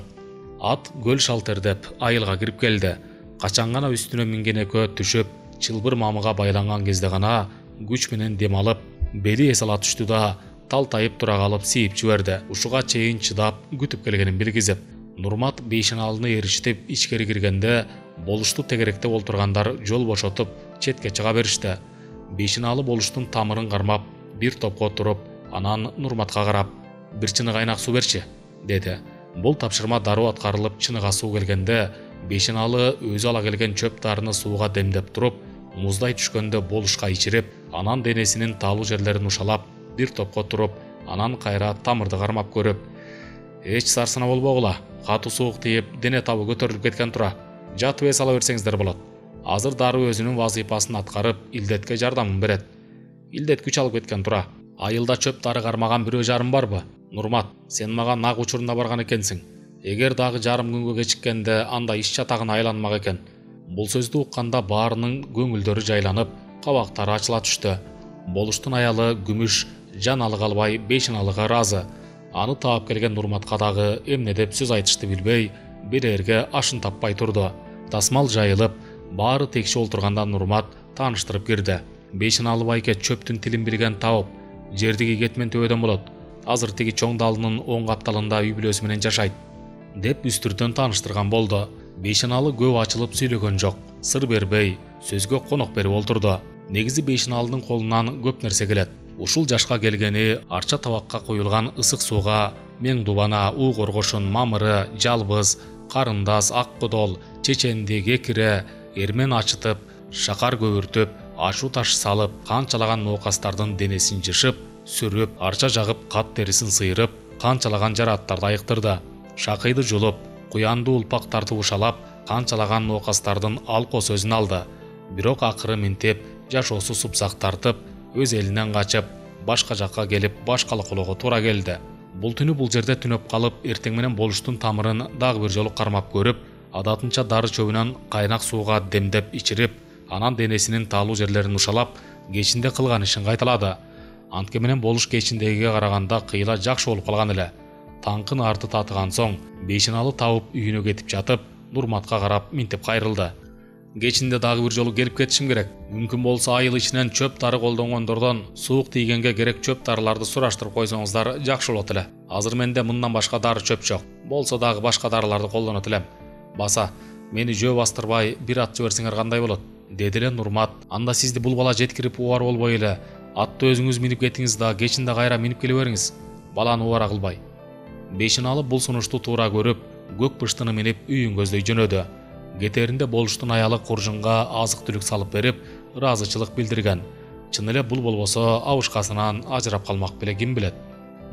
Ат көл шалтердеп айылга кирип келди. Качан гана үстүнө минген экөө түшүп, чылбыр мамыга байланган кезде гана күч менен дем алып, бели эс ала түштү да талтайып тура калып siiп жиберди. Ушуга чейин чыдап күтүп келгенин билгизип. Нурмат бейшеналыны эриштип ичкери киргенде, болушту тегеректеп олтургандар жол бошотуп четке чыга беришти. Бейшеналы болуштун тамырын кармап, бир топко туруп, анан Нурматка карап: "Бир чыны кайнак суу берчи", деди. Бул тапшырма дароо аткарылып, чыныга суу келгенде, бейшеналы өзү ала келген чөп дарыны сууга демдеп туруп, муздай түшкөндө болушка ичирип, анан денесинин таалуу жерлерин ушалап, бир топко туруп, анан кайра тамырды кармап көрүп: "Эч сарсына болбогула, катуу суук тийип, дене табы көтөрүлүп кеткен тура. Жатып эс ала берсеңиздер болот. Азыр дароо өзүнүн вазыйпасын аткарып, илдетке жардамын берет. Илдет күч алып кеткен тура. Айылда чөп дары кармаган бирөө жарым барбы? Нурмат, сен мага нак учурунда барган экенсиң. Эгер дагы жарым күнгө кечиккенде анда иш чатагына айланмак экен." Бул сөздү укканда баарынын көңүлдөрү жайланып, кабактары ачыла түштү. Болуштун аялы Күмүш жан алы калбай бейшеналыга ыраазы. Аны таап келген Нурматка дагы эмне деп сөз айтышты билбей, берерге ашын таппай турду. Тасмал жайылып, баары текши олтурганда Нурмат тааныштырып кирди. Бейшеналы байке чөптүн тилин билген тауып, жердиги кетмен төбөдөн болот. Азыр тиги чоң далынын оң капталында үй бүлөсү менен жашайт, деп үстүртөн тааныштырган болду. Бейшеналы көп ачылып сүйлөгөн жок, сыр бербей, сөзгө конок берип олтурду. Негизи бейшеналынын колунан көп нерсе келет. Ушул жашка келгени арча табакка коюлган ысык сууга мең дубана, уу коргошун, мамыры, жалбыз, карындас, ак кодол, чеченди, кекире, эрмен ачытып, шакар көбүртүп, ашуу таш салып, канчалаган ноокастардын денесин жышып, сүрүп, арча жагып, кат терисин сыйрып, канчалаган жарааттарды айыктырды. Шакыйды жулуп, куянды улпактарды ушалап, канчалаган ноокастардын алко сөзүн алды. Бирок акыры минтеп, жашоосу супсак тартып, өз элинен качып, башка жакка келип башкалаколого туура келди. Бул түнү бул жерде түнөп калып, эртең менен болуштун тамырын дагы бир жолу кармап көрүп, адатынча дары чөбүнөн кайнак сууга демдеп ичирип, анан денесинин таалуу жерлерин ушалап, кечинде кылган ишин кайталады. Антке менен болуш кечиндегиге караганда кыйла жакшы болуп калган эле. Таңкын арты татыган соң, бейшеналы табып үйүнө кетип жатып, Нурматка карап минтип кайрылды. "Кечинде дагы бир жолу келип кетишим керек. Мүмкүн болсо айыл ичинен чөп дары колдонгондордон суук тийгенге керек чөп дарыларды сураштырып койсоңуздар жакшы болот эле. Азыр менде мындан башка дары чөп жок. Болсо дагы башка дарыларды колдонот элем. Баса, мени жөө бастырбай бир ат жиберсеңер кандай болот?" деди эле Нурмат. "Анда сизди бул бала жеткирип убар болбой эле, атты өзүңүз минип кетиңиз да кечинде кайра минип келе бериңиз. Баланы убара кылбай." Бейшеналы бул сунушту туура көрүп, көк пыштыны минип үйүн көздөй жөнөдү. Кетеринде болуштун аялы куржунга азык түлүк салып берип, ыраазычылык билдирген. Чын эле бул болбосо абышкасынан ажырап калмак беле ким билет.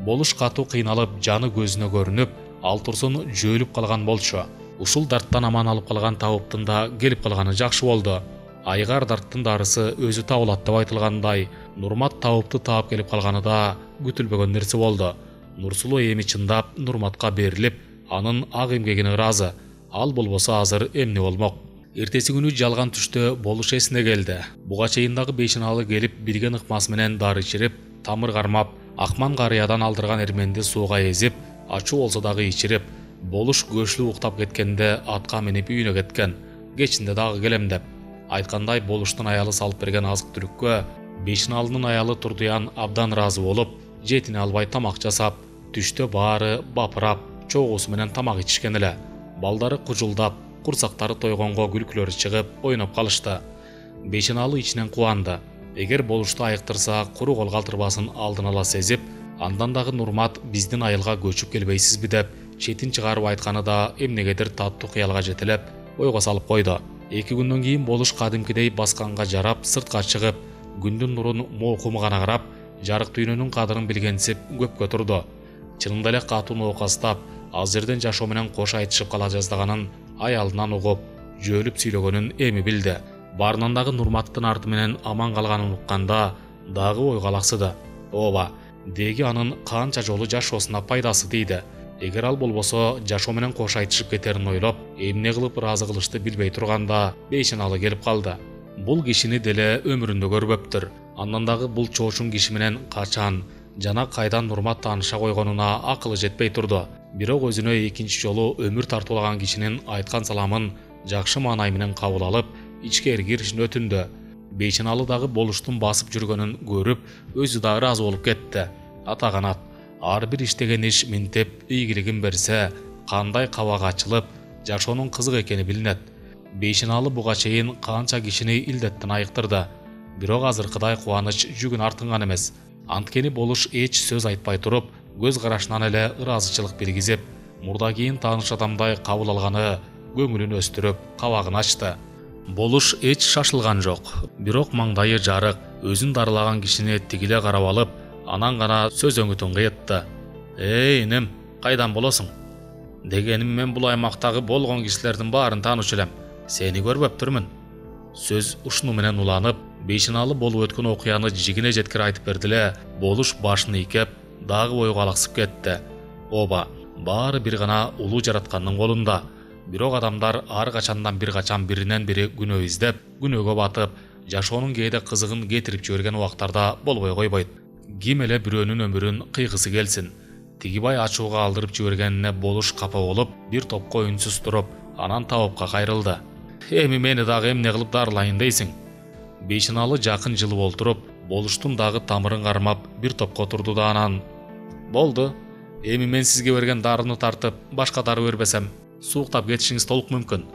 Болуш катуу кыйналып, жаны көзүнө көрүнүп, ал турсун жөөлүп калган болчу. Ушул дарттан аман алып калган табыптын да келип калганы жакшы болду. Айгар дарттын дарысы өзү табылат деп айтылгандай, Нурмат табыпты таап келип калганы да күтүлбөгөн нерсе болду. Нурсулуу эми чындап Нурматка берилип, анын ак эмгегине ыраазы. Ал болбосо азыр эмне болмок? Эртеси күнү жалган түштө болуш эсине келди. Буга чейин дагы бейшеналы келип, билген ыкмасы менен дары ичирип, тамыр кармап, Акман карыядан алдырган эрменди сууга эзип, ачуу болсо дагы ичирип, болуш көчлүү уктап кеткенде атка минип үйүнө кеткен. Кечинде дагы келем деп. Айткандай, болуштун аялы салып берген азык түлүккө бейшеналынын аялы Турдуян абдан ыраазы болуп, жетине албай тамак жасап, түштө баары бапырап, чогуусу менен тамак ичишкен эле. Балдары кужулдап, курсактары тойгонго күлкүлөрү чыгып, ойноп калышты. Бейшеналы ичинен кубанды. Эгер болушту айыктырса, куру кол калтырбасын алдын ала сезип, андан дагы Нурмат биздин айылга көчүп келбейсизби деп четин чыгарып айтканы да эмнегедир таттуу кыялга жетелеп, ойго салып койду. Эки күндөн кийин болуш кадимкидей басканга жарап, сыртка чыгып, күндүн нурун моокум гана карап, жарык дүйнөнүн кадырын билгенсип көпкө турду. Чынында эле катуу ноокастап, аз жерден жашоо менен кош айтышып кала жаздаганын аялынан угуп, жөөлүп сүйлөгөнүн эми билди. Баарынан дагы Нурматтын арты менен аман калганын укканда дагы ойго алаксыды. Ооба, деги анын канча жолу жашоосуна пайдасы тийди. Эгер ал болбосо жашоо менен кош айтышып кетерин ойлоп, эмне кылып ыраазы кылышты билбей турганда бейшеналы келип калды. Бул кишини деле өмүрүндө көрбөптүр. Андан дагы бул чоочун киши менен качан жана кайдан Нурмат тааныша койгонуна акылы жетпей турду. Бирок өзүнө экинчи жолу өмүр тартуулаган кишинин айткан саламын жакшы маанай менен кабыл алып, ичкери киришин өтүндү. Бейшеналы дагы болуштун басып жүргөнүн көрүп, өзү да ыраазы болуп кетти. Ата канат, ар бир иштеген иш минтеп ийгилигин берсе, кандай кабак ачылып, жашоонун кызык экени билинет. Бейшеналы буга чейин канча кишини илдеттен айыктырды. Бирок азыркыдай кубаныч жүгүн артынган эмес. Анткени болуш эч сөз айтпай туруп, көз карашынан эле ыраазычылык билгизип, мурда кийин тааныш адамдай кабыл алганы көңүлүн өстүрүп, кабагын ачты. Болуш эч шашылган жок, бирок маңдайы жарык, өзүн дарылаган кишини тигиле карап алып, анан гана сөз өңүтүн кыйытты. «Эй, инем, кайдан болосуң? Дегеним мен бул аймактагы болгон кишилердин баарын таанычу элем. Сени көрбөптүрмүн». Сөз ушуну менен уланып, Бейшеналы болуп өткөн окуяны жигине жеткире айтып берди эле, болуш башын ийкеп, дагы бойго алаксып кетти. Оба, баары бир гана улуу жараткандын колунда. Бирок адамдар ар качандан бир качан биринен бири күнөө издеп, күнөөгө батып, жашоонун кээде кызыгын кетирип жиберген убактарда болбой койбойт. Ким эле бирөөнүн өмүрүн кыйгысы келсин. Тигибай ачууга алдырып жибергенине болуш капа болуп, бир топко үнсүз туруп, анан табыпка кайрылды. «Эми мени дагы эмне кылып дарылайын дейсиң?» Бейшеналы жакын жылып олтуруп, болуштун дагы тамырын кармап, бир топко турду да анан: «Болду. Эми мен сизге берген дарыны тартып, башка дары бербесем, сууктап кетишиңиз толук мүмкүн.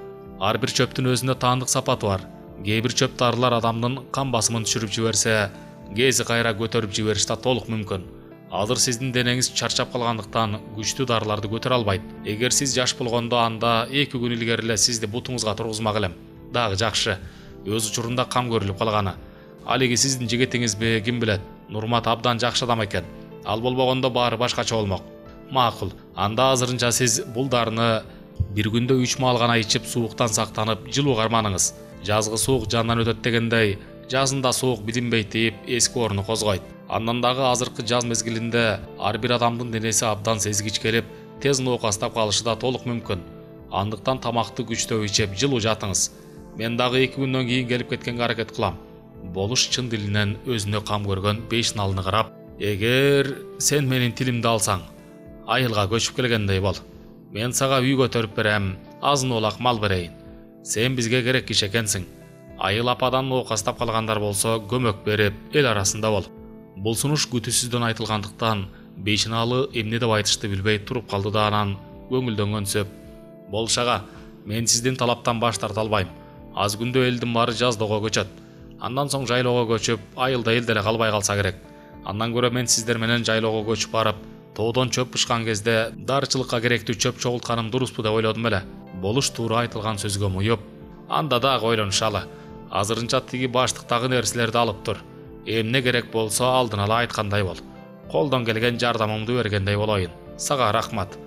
Ар бир чөптүн өзүнө таандык сапаты бар. Кээ бир чөп дарылар адамдын кан басымын түшүрүп жиберсе, кээси кайра көтөрүп жибериш да толук мүмкүн. Азыр сиздин денеңиз чарчап калгандыктан күчтүү дарыларды көтөрө албайт. Эгер сиз жаш болгондо, анда эки күн илгери эле сизди бутуңузга тургузмак элем. Дагы жакшы, өз учурунда кам көрүлүп калганы. Ал эги сиздин жигитиңизби, ким билет. Нурмат абдан жакшы адам экен. Ал болбогондо баары башкача болмок. Макул, анда азырынча сиз бул дарыны бир күндө үч маал гана ичип, сууктан сактанып, жылуу карманыңыз. Жазгы суук жандан өтөт дегендей, жазында суук билинбейт дейип эски орну козгойт. Андан дагы азыркы жаз мезгилинде ар бир адамдын денеси абдан сезгич келип, тез ноокастап калышы да толук мүмкүн. Андыктан тамакты күчтөп ичип, жылуу жатыңыз. Мен дагы эки күндөн кийин келип кеткенге аракет кылам. Болуш чын дилинен өзүнө кам көргөн Бейшеналыны карап: «Эгер сен менин тилимди алсаң, айылга көчүп келгендей бол. Мен сага үй көтөрүп берем, азын олак мал берейин. Сен бизге керек киши экенсиң. Айыл ападан ноокастап калгандар болсо көмөк берип, эл арасында бол». Бул сунуш күтүүсүздөн айтылгандыктан Бейшеналы эмне деп айтышты билбей туруп калды да анан көңүлдөнгөнсөп: «Болуш ага, мен сиздин талаптан баш тарта албайм. Аз күндө элдин баары жаздоого көчөт. Андан соң жайлоого көчүп, айылда эл деле калбай калса керек. Андан көрө мен сиздер менен жайлоого көчүп барып, тоодон чөп бышкан кезде дарычылыкка керектүү чөп чогултканым дуруспу деп ойлодум эле». Болуш туура айтылган сөзгө муюп: «Анда дагы ойлонушалы. Азырынча тиги баштыктагы нерселерди алып тур. Эмне керек болсо алдын ала айткандай бол. Колдон келген жардамымды бергендей болоюн. Сага рахмат»,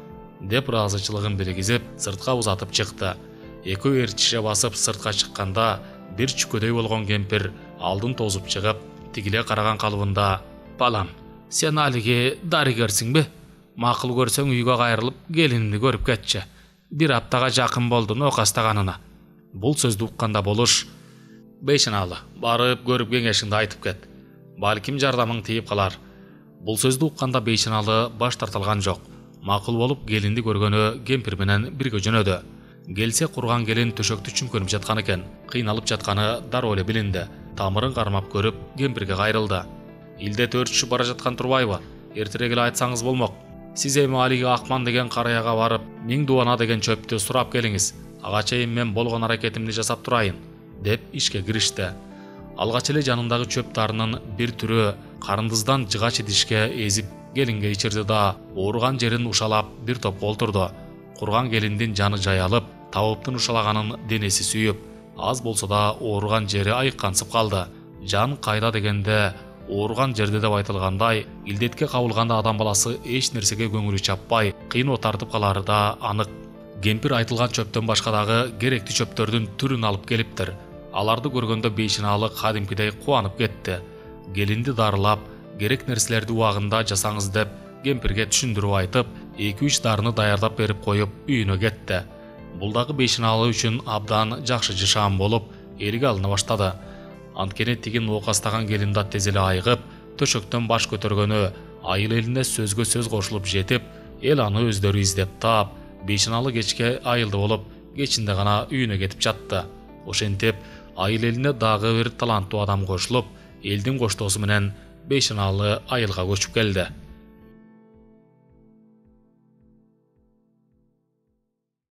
деп ыраазычылыгын билгизип, сыртка узатып чыкты. Экөө ээрчише басып сыртка чыкканда, бир чүкөдөй болгон кемпир алдын тосуп чыгып, тигиле караган калыбында: «Балам, сен алиги дарыгерсиңби? Макул көрсөң үйгө кайрылып, келинимди көрүп кетчи. Бир аптага жакын болду ноокастаганына». Бул сөздү укканда Болуш: «Бейшеналы, барып көрүп кеңешиңди айтып кет. Балким жардамың тийип калар». Бул сөздү укканда Бейшеналы баш тарталган жок. Макул болуп келинди көргөнү кемпир менен бирге жөнөдү. Келсе курган келин төшөктү чүңкөнүп жаткан экен. Кыйналып жатканы дароо эле билинди. Тамырын кармап көрүп, кемпирге кайрылды: «Илдет өрчүшүп бара жаткан турбайбы? Эртерээк эле айтсаңыз болмок. Сиз эми алиги Акман деген караяга барып, Миң Дубана деген чөптү сурап келиңиз. Ага чейин мен болгон аракетимди жасап турайын», деп ишке киришти. Алгач эле жанындагы чөп дарынын бир түрү карындыздан жыгач идишке эзип келинге ичирди да, ооруган жерин ушалап бир топко олтурду. Курган келиндин жаны жаялып, табыптын ушалаганын денеси сүйүп, аз болсо да ооруган жери айыккансып калды. Жан кайда дегенде, ооруган жерде деп айтылгандай, илдетке кабылганда адам баласы эч нерсеге көңүлү чаппай, кыйноо тартып калары да анык. Кемпир айтылган чөптөн башка дагы керектүү чөптөрдүн түрүн алып келиптир. Аларды көргөндө Бейшеналы кадимкидей кубанып кетти. Келинди дарылап, керек нерселерди убагында жасаңыз деп кемпирге түшүндүрүп айтып, эки үч дарыны даярдап берип коюп үйүнө кетти. Бул дагы бейшаналы үчүн абдан жакшы жышаан болуп элге алына баштады. Анткени тиги оокастаган келин да тез эле айыгып, төшөктөн баш көтөргөнү айыл элине сөзгө сөз кошулуп жетип, эл аны өздөрү издеп таап, бейшаналы кечке айылды болуп, кечинде гана үйүнө кетип жатты. Ошентип айыл элине дагы бир таланттуу адам кошулуп, элдин коштоосу менен бейшаналы айылга көчүп келди.